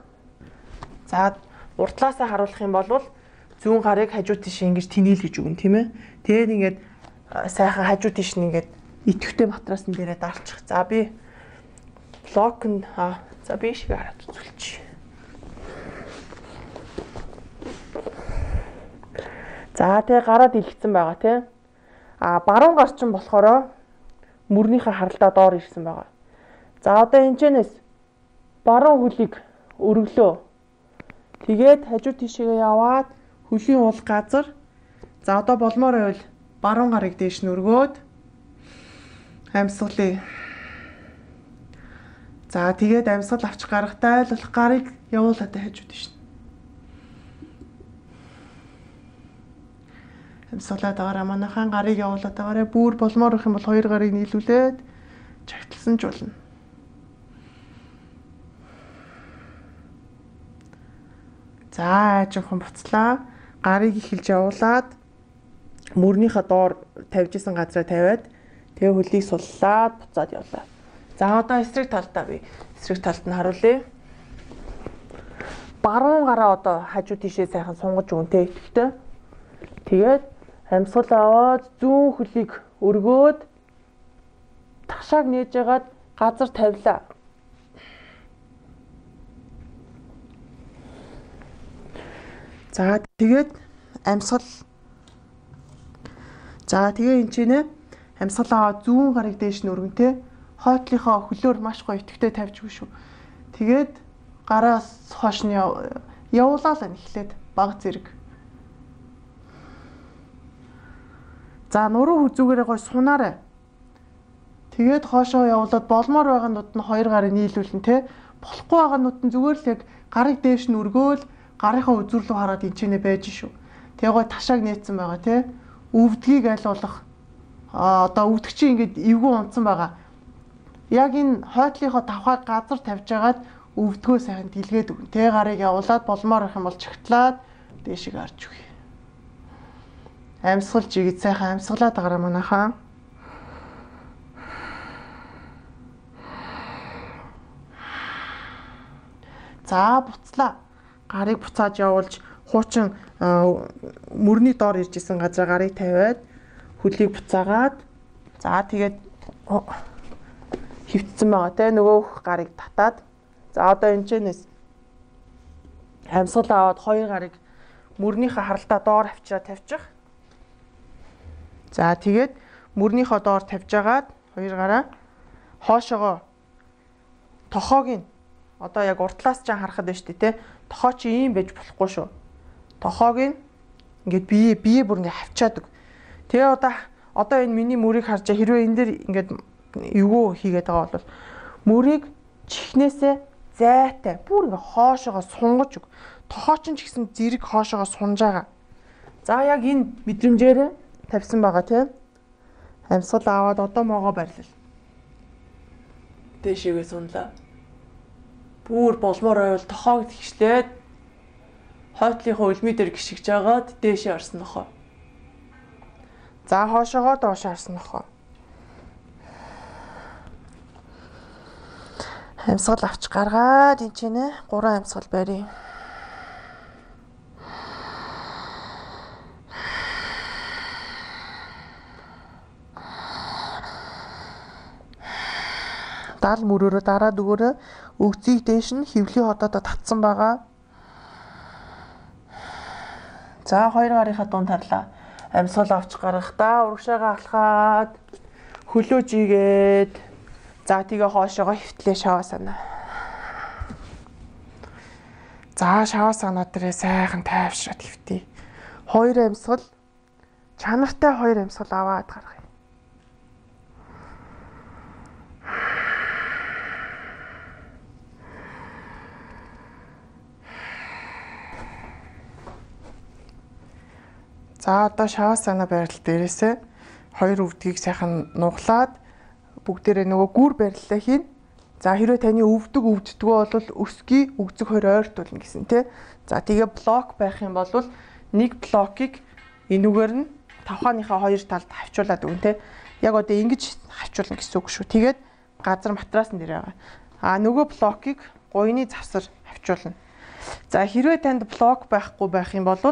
За уртлаасаа харуулах юм бол зүүн гарыг хажуу тийш ингэж тэнээлгэж өгнө тийм ээ. Тэгээд ингээд сайхан хажуу тийш нь ингээд идэвхтэй матрасан дээрээ дарчих. За би блок нь аа за би шиг хараад үзүүлчих. За тэгээ гараад илгэсэн байгаа тийм. А баруун гар чинь болохоор мөрнийхээ харалтаа доор ирсэн байгаа. За одоо энэчнээс баруун хөлийг өргөлөө. Тэгээд хажуу тишээгээ яваад хөлийн уул газар. За одоо болмоор байвал баруун гарыг дээш нь өргөөд амьсгалыг. За тэгээд амьсгал авч гарахтаа л болох гарыг явуулаад хажуу тийш. Амьсгалаад байгаараа манайхан гарыг явуулаад байгаараа бүр болмоор их юм бол хоёр гарыг нийлүүлээд чагтлсан ч болно. За жоохон буцлаа. Гарыг эхэлж явуулаад мөрнийхөө доор тавьж исэн газраа тавиад тэгээ хөлийг суллаад буцаад явлаа. За одоо эсрэг талдаа би эсрэг талд нь харуулъя. Баруун гараа одоо хажуу тишээ сайхан сунгаж өгнтэй итгэвтэй. Тэгээд амьсгал аваад зүүн хөлийг өргөөд ташааг нээж ягаад газар тавилаа. За тэгээд амьсгал. За тэгээ энэ чинь амьсгал аваад зүүн гарыг дээш нь өргөнтэй. Хойтлынхоо хөлөөр маш гоё итгэвтэй тавьж өгнө шүү. Тэгээд гараас хойш нь явуулаа л эхлээд баг зэрэг. За нуруу хүзүүгээрээ гоё сунаарай. Тэгээд хоошоо явуулаад болмоор байгаанууд нь хоёр гарыг нийлүүлнэ те. Болохгүй байгаанууд нь зүгээр л яг гарыг дээш нь өргөөл гарынхаа үзүүрлүү хараад энчэнэ байж шүү. Тэгээ гоё ташааг нээсэн байгаа те. Өвдгийг айлуулах. А одоо өвдөгчийн ингээд эвгүй унтсан байгаа. Яг энэ хойтлынхоо тавхаг газар тавьж агаад өвдгөө сайхан дэлгээд өгнө. Тэгээ гарыг явуулаад болмоор их юм бол чагтлаад дээшийг харж өгье. Амьсгалж игээд сайхан амьсгалаад байгаараа манайхаа. За буцлаа. Гарыг буцааж явуулж хуучин мөрний доор ирж исэн газар гарыг тавиад хөлийг буцаагаад за тэгээд хөвтсөн байгаа те нөгөөх гарыг татаад за одоо энэчнээс амьсгал аваад хоёр гарыг мөрнийхөө харалтаа доор авчираа тавьчих. За тэгээд мөрнийхөө доор тавьжгаад хоёр гараа хоошоогоо тохоог нь одоо яг уртлаас ч харахад байна шүү дээ те. Тохоо чи ийм байж болохгүй шүү. Тохоог нь ингээд бие бие бүр ингээд хавчаад өг. Тэгээ одоо одоо энэ миний мөрийг харж хэрвээ энэ дэр ингээд эвгүй хийгээд байгаа бол мөрийг чихнээсээ зайтай бүр ингээд хоошоогоо сунгаж өг. Тохоо ч гэсэн зэрэг хоошоогоо сунж байгаа. За яг энэ мэдрэмжээр тавьсан байгаа тийм. Амьсгал аваад одоо могоо барьлаа. Дээшээгээ сунлаа. Бүр болмоор байвал тохоог тэгшлээд хойтлынхоо үлмий дээр гიშгэж агаад дээшээ орсон нохоо. За хоошоогоо доош харсан нөхөө. Амьсгал авч гаргаад энэ ч нэ гурван амьсгал барья. Дал мөрөөрөө дараа дөгөөрөө өгцгийг дээш нь хөвлийн хотоодоо татсан байгаа. За хоёр гарынхаа дунд тарлаа. Амьсгал авч гаргахдаа урагшаагаа алхаад хөлөөж игээд за тэгээ хоошоогоо хөвтлээ шаваа санаа. За шаваа санаа дээрээ сайхан тайвшраад хөвтий. Хоёр амьсгал чанартай хоёр амьсгал аваад гаргая. За одоо шаваа санаа байрлал дээрээсээ хоёр өвдгийг сайхан нуглаад бүгдээрээ нөгөө гүр бариллаа хийн. За хэрвээ таны өвдөг өвддгөө бол өсгий өгзөг хоёр ойртуулна гэсэн тий. За тэгээ блок байх юм бол нэг блокийг энүүгээр нь тавхааныхаа хоёр талд хавчуулаад өгнө тий. Яг одоо ингэж хавчуулна гэсэн үг шүү. Тэгээд газар матраасан дээр байгаа. А нөгөө блокийг гуйны завсар хавчуулна. За хэрвээ танд блок байхгүй байх юм бол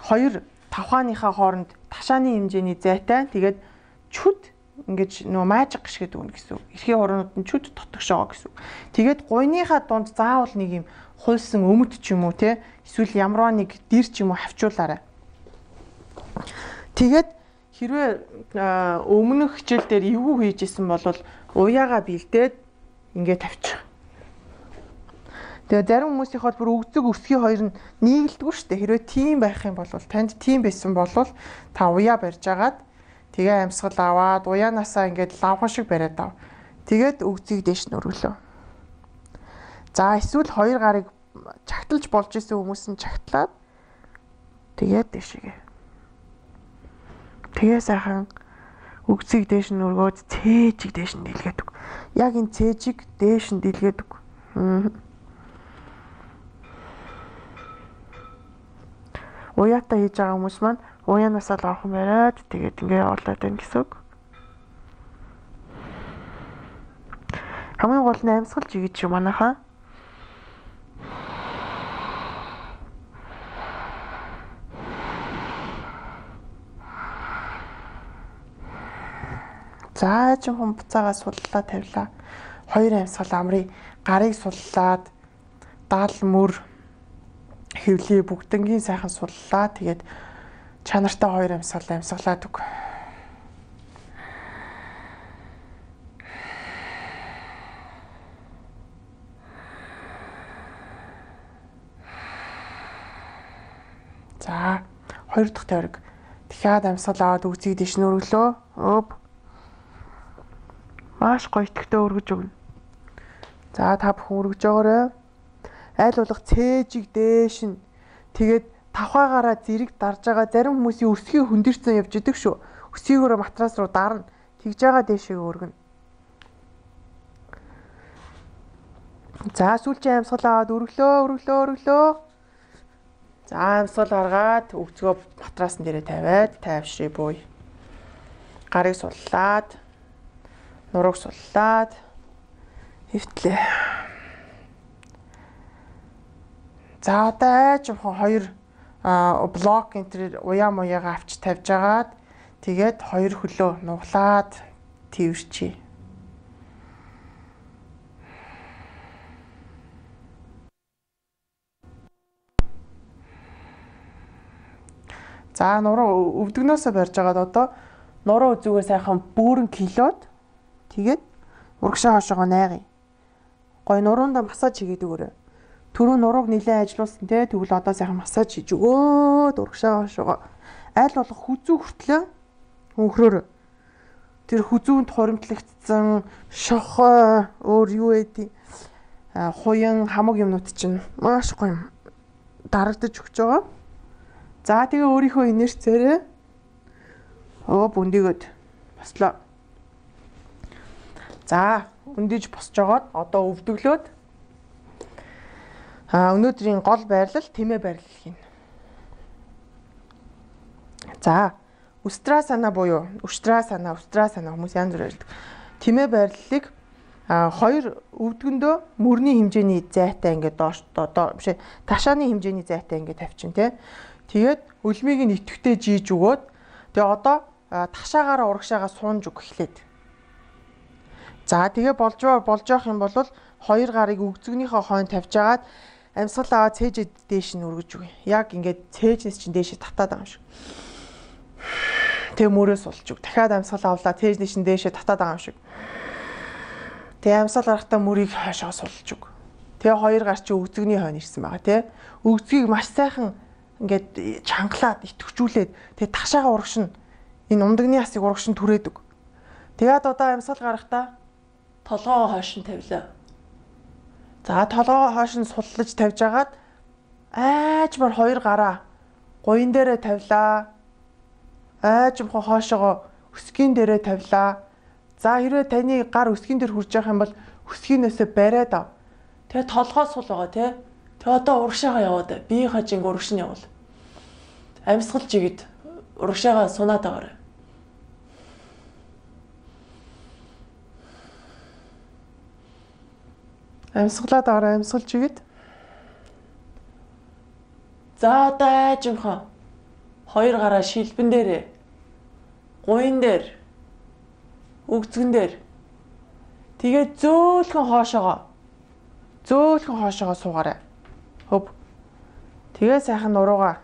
хоёр тавхааныхаа хооронд ташааны хэмжээний зайтай тэгээд чүд ингэж нөө маажиг гიშгэд өгнө гэсэн үг. Эрхийн хооронд нь чүд тотгош байгаа гэсэн үг. Тэгээд гуйныхаа дунд заавал нэг юм хуйсан өмд ч юм уу те эсвэл ямарваа нэг дэр ч юм уу хавчуулаарай. Тэгээд хэрвээ өмнөх хичээл дээр эвгүй хийжсэн бол уяагаа бэлдээд ингээд тавьчих. Тэгээ зарим хүмүүсийн хол бүр өгзөг өсгий хоёр нь нийгэлдэггүй шүү дээ. Хэрвээ тийм байх юм бол танд тийм байсан бол та уяа барьж агаад тэгээ амьсгал аваад уяанаасаа ингээд лавхан шиг бариад ав. Тэгээд өгзгийг дээш нь өргөлөө. За эсвэл хоёр гарыг чагталж болж исэн хүмүүс нь чагтлаад тэгээд дээшгээ. Тэгээ сайхан өгзгийг дээш нь өргөөд цээжийг дээш нь дэлгээд өг. Яг энэ цээжийг дээш нь дэлгээд өг. Уяатаа хийж байгаа хүмүүс маань уяанаасаа л авах юм бариад тэгээд ингээ явуулаад байна гэсэн үг. Хамгийн гол нь амьсгалж игэж шүү манайхаа. За ч хүн буцаагаа суллаа тавилаа. Хоёр амьсгал амрыг гарыг суллаад дал мөр хөвлий бүгднгийн сайхан суллаа. Тэгээд чанартай хоёр амьсгал амьсгалаад өг. За хоёр дахь тойрог дахиад амьсгал аваад өгзгийг дэш нь өргөлөө. Өөп. Маш гоё итгэвтэй өргөж өгнө. За та бүхэн өргөж өгөөрэй. Айл болох цээжийг дээш нь тэгээд тавхаагаараа зэрэг дарж байгаа зарим хүмүүсийн өсгийг хөндөрцөн явж идэг шүү. Өсгийгөө матрас руу дарна. Тэгж байгаа дээшээ өргөнө. За сүүлчийн амьсгал аваад өргөлөө, өргөлөө, өргөлөө. За амьсгал гаргаад өгцгөө матрасан дээрээ тавиад тайвшрий бууя. Гарыг суллаад, нурууг суллаад хөвтлээ. За одоо айжхан хоёр блок энтер уяа муяагаа авч тавьж агаад тэгээд хоёр хөлөө нуглаад тэрчээ. За нуруу өвдгнөөсөө барьж агаад одоо нуруу үзүүгээ сайхан бөөрн килоод тэгээд урагшаа хошоогоо найгая. Гой нуруунда массаж хийгээд өгөөрэй. Түрүү нурууг нилээн ажиллуулсан те тэгвэл одоо сайхан массаж хийж өгөөд урагшаа хошоогоо аль болох хүзүү хүртлээ өнхрөөр. Тэр хүзүүнд хуримтлагдсан шохоо өөр юу эдий хуян хамаг юмнууд чинь маш гоё юм дарагдаж өгч байгаа. За тэгээ өөрийнхөө инерцээрээ оо бүндийгөөд бослоо. За өндиж босч жагаад одоо өвдөглөөд а өнөөдрийн гол байрлал тэмээ байрлал хийнэ. За Устрасана буюу Устрасана, Устрасана хүмүүс янз бүр ярьдаг. Тэмээ байрлалыг а хоёр өвдгөндөө мөрний хэмжээний зайтай ингээд доош биш ташааны хэмжээний зайтай ингээд тавьчин тий. Тэгээд үлмийг нь идэвхтэй жийж өгөөд тэгээ одоо ташаагаараа урагшаага суунж өг эхлээд. За тэгээ болж болж явах юм бол хоёр гарыг өгзөгнийхөө хойно тавьжгаад амьсгал аваад цээж дээш нь өргөж өгье. Яг ингээд цээжнээс чинь дээшээ татаад байгаа юм шиг. Тэгээ мөрөөс сулж өг. Дахиад амьсгал авлаа цээжнээс нь дээшээ татаад байгаа юм шиг. Тэгээ амьсгал гарахтаа мөрийг хойшоо сулж өг. Тэгээ хоёр гар чи өгзөгний хойно ирсэн байгаа тий. Өгзгийг маш сайхан ингээд чангалаад итгэвчүүлээд тэгээ ташаага урагшин энэ ундагны асыг урагшин түрээдэг. Тэгээд одоо амьсгал гарахтаа толгоо хойш нь тавилаа. За толгоо хойш нь суллаж тавьж агаад айжмар хоёр гараа гуйн дээрээ тавилаа. Айжмхан хоошоогоо өсгийн дээрээ тавилаа. За хэрвээ таны гар өсгийн дээр хүрж явах юм бол өсгийнөөсөө бариад ав. Тэгээ толгоо сул байгаа тий. Тэгээ одоо урагшаага яваад бие хажинг урагш нь явуул. Амьсгал жигэд урагшаага сунаад байгаарай. Амьсгалаад аваа амьсгал жигэд. За одоо айжмхан хоёр гараа шилбэн дээрээ гуйн дээр өгзгөн дээр тэгээд зөөлхөн хоошоогоо зөөлхөн хоошоогоо суугаарай. Хөв. Тэгээ сайхан нуруугаа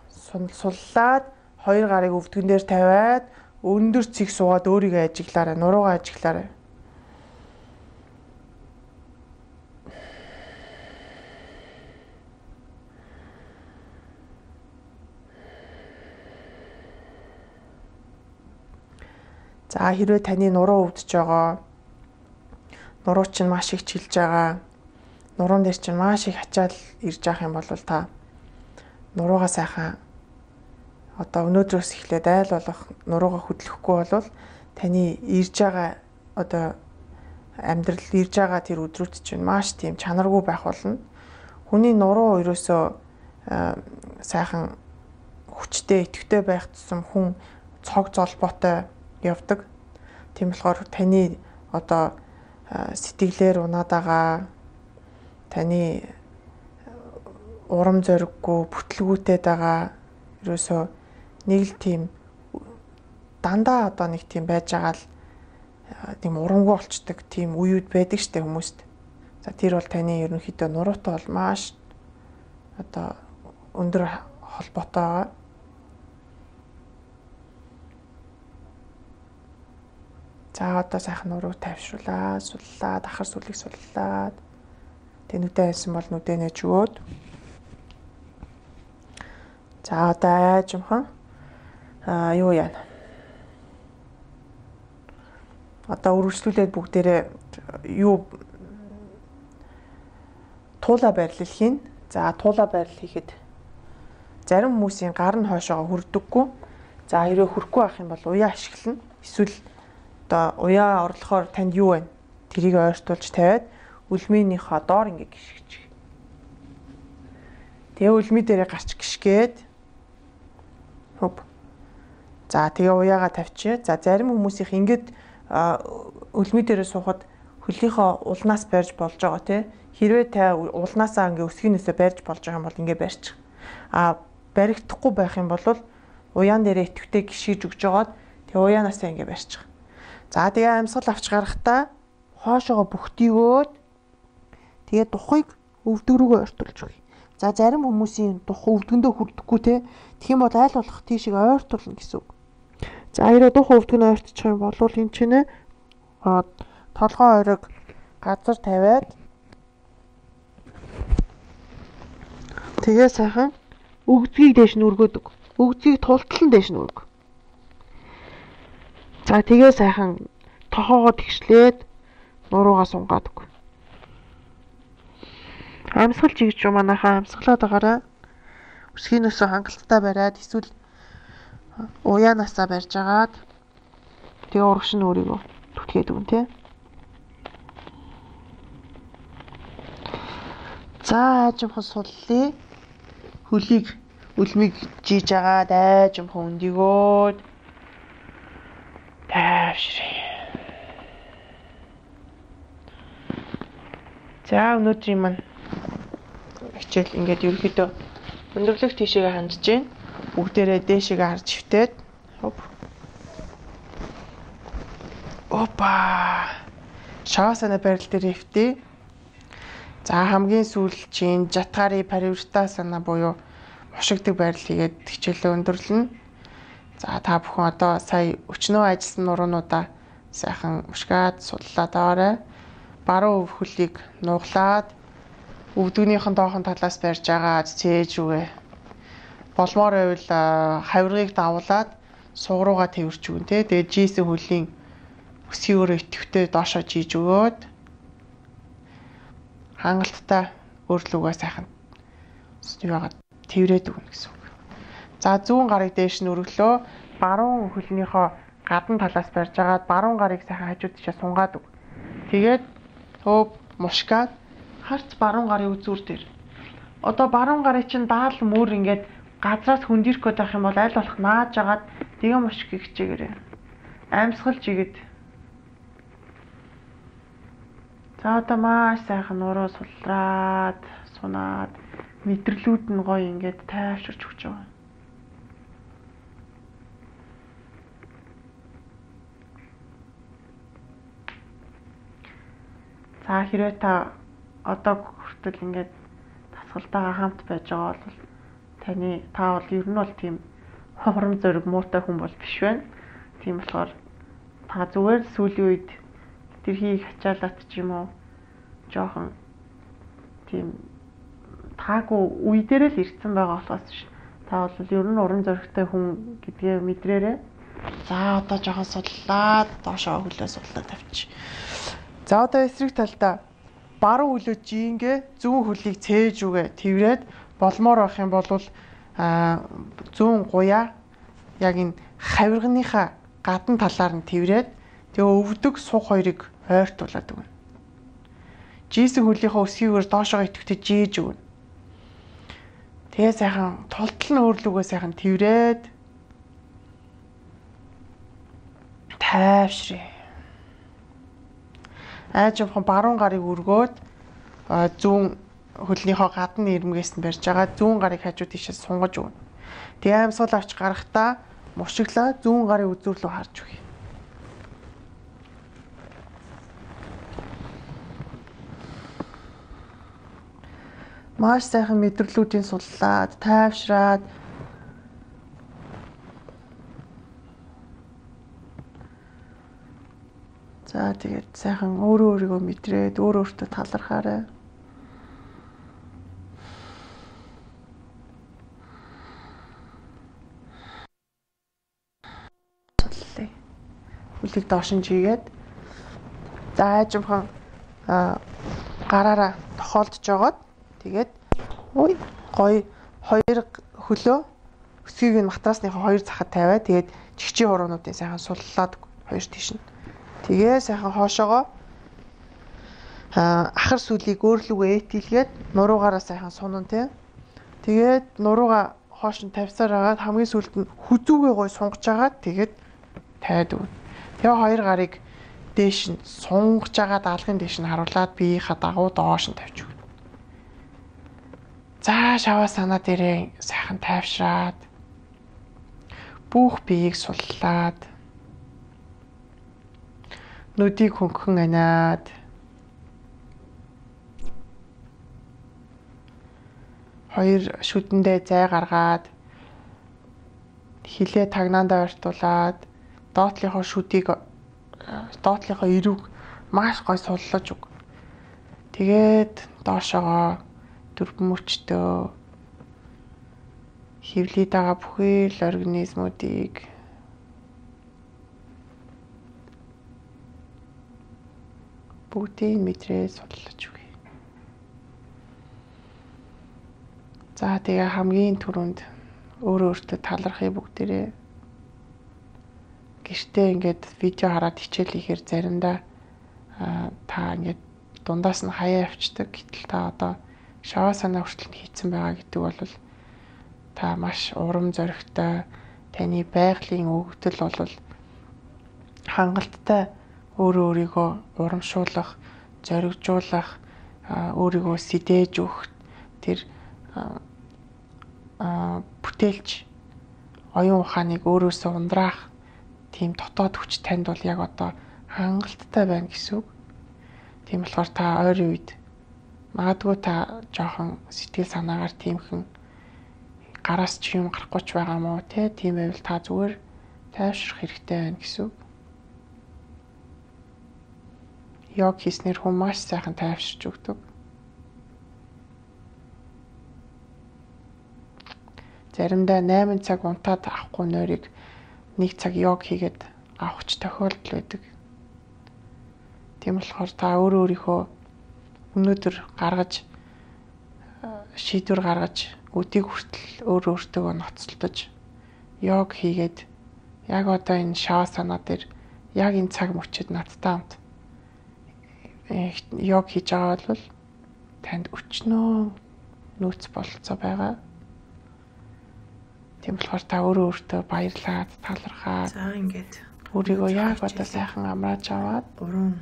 суллаад хоёр гарыг өвдгөн дээр тавиад өндөр цэг суугаад өөрийгөө ажиглаарай. Нуруугаа ажиглаарай. За хэрвээ таны нуруу өвдөж байгаа, нуруу чинь маш их чилж байгаа, нуруун дээр чинь маш их ачаал ирж байгаа юм бол та нуруугаа сайхан одоо өнөөдрөөс эхлээд айл болох нуруугаа хөдлөхгүй бол таны ирж байгаа одоо амьдрал ирж байгаа тэр өдрүүд чинь маш тийм чанаргүй байх болно. Хүний нуруу ерөөсөө сайхан хүчтэй, идэвхтэй байх тусам хүн цог золбоотой явдаг. Тийм болохоор таны одоо сэтгэлээр унаад байгаа, таны урам зориггүй, бүтлгүүтэй байгаа ерөөсөө нэг л тийм дандаа одоо нэг тийм байж байгаа л тийм урамгүй болчдөг тийм үеуд байдаг штэ хүмүүст. За тэр бол таны ерөнхийдөө нуруутай бол маш одоо өндөр холбоотой байгаа. За одоо сайхан нуруу тавьшруулаад, суллаад, ахар сүлийг суллаад. Тэг нүдэ хайсан бол нүдэ нэж өгөөд. За одоо айжмхан аа юу яана. Одоо үргэлжлүүлээд бүгдээрээ юу туула байрлал хийн. За туула байрлал хийхэд зарим хүмүүсийн гар нь хойшоогоо хүрдэггүй. За хэрвээ хүрхгүй байх юм бол уяа ашиглана. Эсвэл одоо уяа орлохоор танд юу вэ? Тэрийг ойртуулж тавиад үлмийнийхээ доор ингээ гიშгэж. Тэгээ үлмий дээрээ гарч гიშгээд хөп. За тэгээ уяагаа тавьчих. За зарим хүмүүсийнх ингээд үлмий дээрээ суухад хөлийнхөө улнаас барьж болж байгаа тий. Хэрвээ та улнаасаа ингээ өсгийнөөсөө барьж болж байгаа юм бол ингээ барьчих. А баригдахгүй байх юм бол уяан дээрээ итгэвтэй гიშгэж өгж жагаад тэгээ уяанаасаа ингээ барьчих. За тэгээ амьсгал авч гарахтаа хоошоогоо бүхтийгөөд тэгээ тухыг өвдөг рүүгээ ойртуулж өгье. За зарим хүмүүсийн дух өвдгөндөө хүрдэхгүй те. Тэгэх юм бол айл болох тийшээ ойртуулна гэсэн үг. За хэрэг дух өвдгөн ойртчих юм бол энэ чинь толгоо ойрог газар тавиад тэгээ сайхан өгдгийг дээш нь өргөөдөг. Өгдгийг тултал нь дээш нь өргө. За тэгээ сайхан тохоогоо тэгшлээд нуруугаа сунгаадаг. Амьсгал жигж юм манайхаа амьсгалаад байгаараа өсгийнөөсөө хангалттай бариад эсвэл уяанаасаа барьж агаад тэгээ урагш нь өөрийгөө түтгээд өгнө тий. За айжмхан суллаа. Хөлийг үлмийг жийж агаад айжмхан өндөгөөд За өнөөдрийн маань хичээл ингээд ерөөхдөө өндөрлөх тийшээгээ хандж гин. Бүгдээрээ дээшээгээ харж хөвтөөд. Опа. Шавасана барил дээр хөвтөө. За хамгийн сүүлд чинь жатгари паривертасана буюу мушигдаг барил хийгээд хичээлээ өндөрлөнө. За та бүхэн одоо сая өчнөө ажилласан нуруунуудаа сайхан мушгаад судлаад аваарай. Баруун өв хөлийг нуглаад өвдөгнийхэн доохон талаас барьж агаад цээж үгэ. Болмоор байвал хавиргыг давуулаад суг руугаа тэрч өгөн тэ. Тэгээд жийсэн хөлийн өсгийн өрөө идэвхтэй доошоо жийж өгөөд хангалттай өөрлөгөө сайхан юугаад тэрвэрэд өгнө гэсэн үг. За зүүн гарыг дээш нь өргөлөө. Баруун хөлнийхөө гадна талаас барьж агаад баруун гарыг сайхан хажууд тишээ сунгаад өг. Тэгээд төв мушгаад харц баруун гарын үзүүр дээр. Одоо баруун гарын чинь даал мөр ингээд газраас хөндөрөх гээд байх юм бол аль болох нааж агаад тэгээ мушиг хичээгээрэй. Амьсгалж игээд. За одоо маш сайхан нуруу сулраад, сунаад мэдрэлүүд нь гоё ингээд тайвширч өгч байгаа. За хэрвээ та одоо хүртэл ингээд тасгалтайгаа хамт байж байгаа бол таны та бол ер нь бол тийм хурам зориг муутай хүн бол биш байна. Тийм болохоор та зүгээр сүүлийн үед тэрхийг хачаалаад ч юм уу жоохон тийм таагүй үе дээр л ирсэн байгаа болохоос ш. Та бол ер нь уран зоригтой хүн гэдгээ мэдрээрэй. За одоо жоохон судлаад доошоо хөлөө судлаад тавьчих. За одоо эсрэг талдаа баруун хөлөө жингээ зүүн хөлийг цээж үгэ тэрвэрэд болмоор байх юм бол а зүүн гуяа яг энэ хавирганыхаа гадна талаар нь тэрвэрэд тэгээ өвдөг суг хоёрыг ойртуулад өгнө. Жийсэн хөлийнхөө өсгийгээр доошоо идэвхтэй жийж өгнө. Тэгээ сайхан тултал нь өөрлөгөө сайхан тэрвэрэд тайвшрээ. Аажимхан баруун гарыг өргөөд зүүн хөлнийхөө гадна ирмгээс нь барьж байгаа зүүн гарыг хажуу тийшээ сунгаж өгнө. Тэгээ амьсгал авч гарахдаа мушиглаа зүүн гарын үзүүр рүү харж өгье. Маш сайхан мэдрэлүүдийн суллаад, тайвшраад за тэгээд сайхан өөрөө өөрийгөө мэдрээд өөр өөртөө талархаарай. Судлаа. Хөлийг доош нь жигээд за аажимхан гараараа тохиолдож жогоод тэгээд ой гоё хоёр хөлөө өсгийг нь матрасныхаа хоёр захад тавиад тэгээд чигчийн хуруунуудын сайхан суллаад хоёр тийш нь тэгээ сайхан хоошоогоо ахар сүлийг өөрлөгөө ээтилгээд нуруугаараа сайхан сунан тий. Тэгээд нуруугаа хоош нь тавьсаар агаад хамгийн сүүлд нь хүзүүгээ гой сунгаж агаад тэгээд тайд өгнө. Тэгээ хоёр гарыг дээш нь сунгаж агаад алгын дээш нь харуулад биеийнхаа дагуу доош нь тавьж өгнө. За шаваа санаа дээрээ сайхан тайвшраад бүх биеийг суллаад нүдийг хөнгөн аниад хоёр шүдэндээ зай гаргаад хилээ тагнаандаа ойртуулад доотлийнхоо шүдийг доотлийнхоо эрүүг маш гой суллаж өг. Тэгээд доошоогоо дөрвөн мөчтөө хөвлөд байгаа бүхэл организмуудыг бүгдийг мэдрээ судлаж үгүй. За тэгээ хамгийн түрүүнд өөрөө өөртөө талархыг бүгдээрээ гэртээ ингээд видео хараад хичээл хийхээр заримдаа та ингээд дундаас нь хаяа авчдаг. Гэтэл та одоо шаваа санаа хүртэл хийцэн байгаа гэдэг бол та маш урам зоригтой, таны байгалийн өгөгдөл бол хангалттай өөрөө өөрийгөө урамшуулах, зоригжуулах, өөрийгөө сэдэж өгөх тэр а бүтээлч оюун ухааныг өөрөөсөө ундраах тийм дотоод хүч танд бол яг одоо хангалттай байна гэсэн үг. Тийм болохоор та ойрын үед магадгүй та жоохон сэтгэл санаагаар тиймхэн гараас ч юм гарахгүй ч байгаа мó те, тийм байвал та зүгээр тайвшрах хэрэгтэй байна гэсэн үг. Йог хийснээр хүн маш сайхан тайвширч өгдөг. Заримдаа найман цаг унтаад авахгүй нойрыг нэг цаг йог хийгээд авахч тохиолдол байдаг. Тийм болохоор та өөрөө өөрийнхөө өнөөдөр гаргаж шийдвэр гаргаж өдийг хүртэл өөрөө өөртөө ноцтолдож йог хийгээд яг одоо энэ шавасана дээр яг энэ цаг мөчид надтай хамт йог хийж байгаа бол танд өчнөө нөөц бололцоо байгаа. Тийм болохоор та өөрөө өөртөө баярлаад талархаад за ингээд өөрийгөө яг одоо сайхан амрааж аваад гурван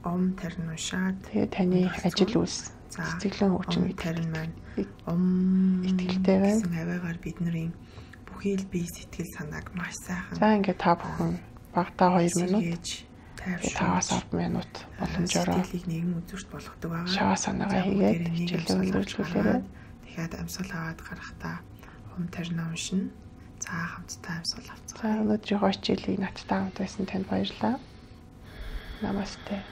ом тарин уншаад тэгээ таны ажил үйлс сэтгэлэн хүчин тарин маань ом итгэлтэй байна. гэсэн аваагаар бидний бүхий л бие сэтгэл санааг маш сайхан. За ингээд та бүхэн багтаа хоёр минут таваас ард минут боломжоор сэтгэлийг нэгэн үзүүрт болгодог байгаа. шава санаагаа хийгээд хичээлээ өндөрлүүлээрэй. Тэгэхээр амьсгал аваад гарахтаа ом тарин уншина. За хамтдаа амьсгал авцгаая. За өнөөдрийн хичээлийг надтай хамт байсан танд баярлалаа. Намасте.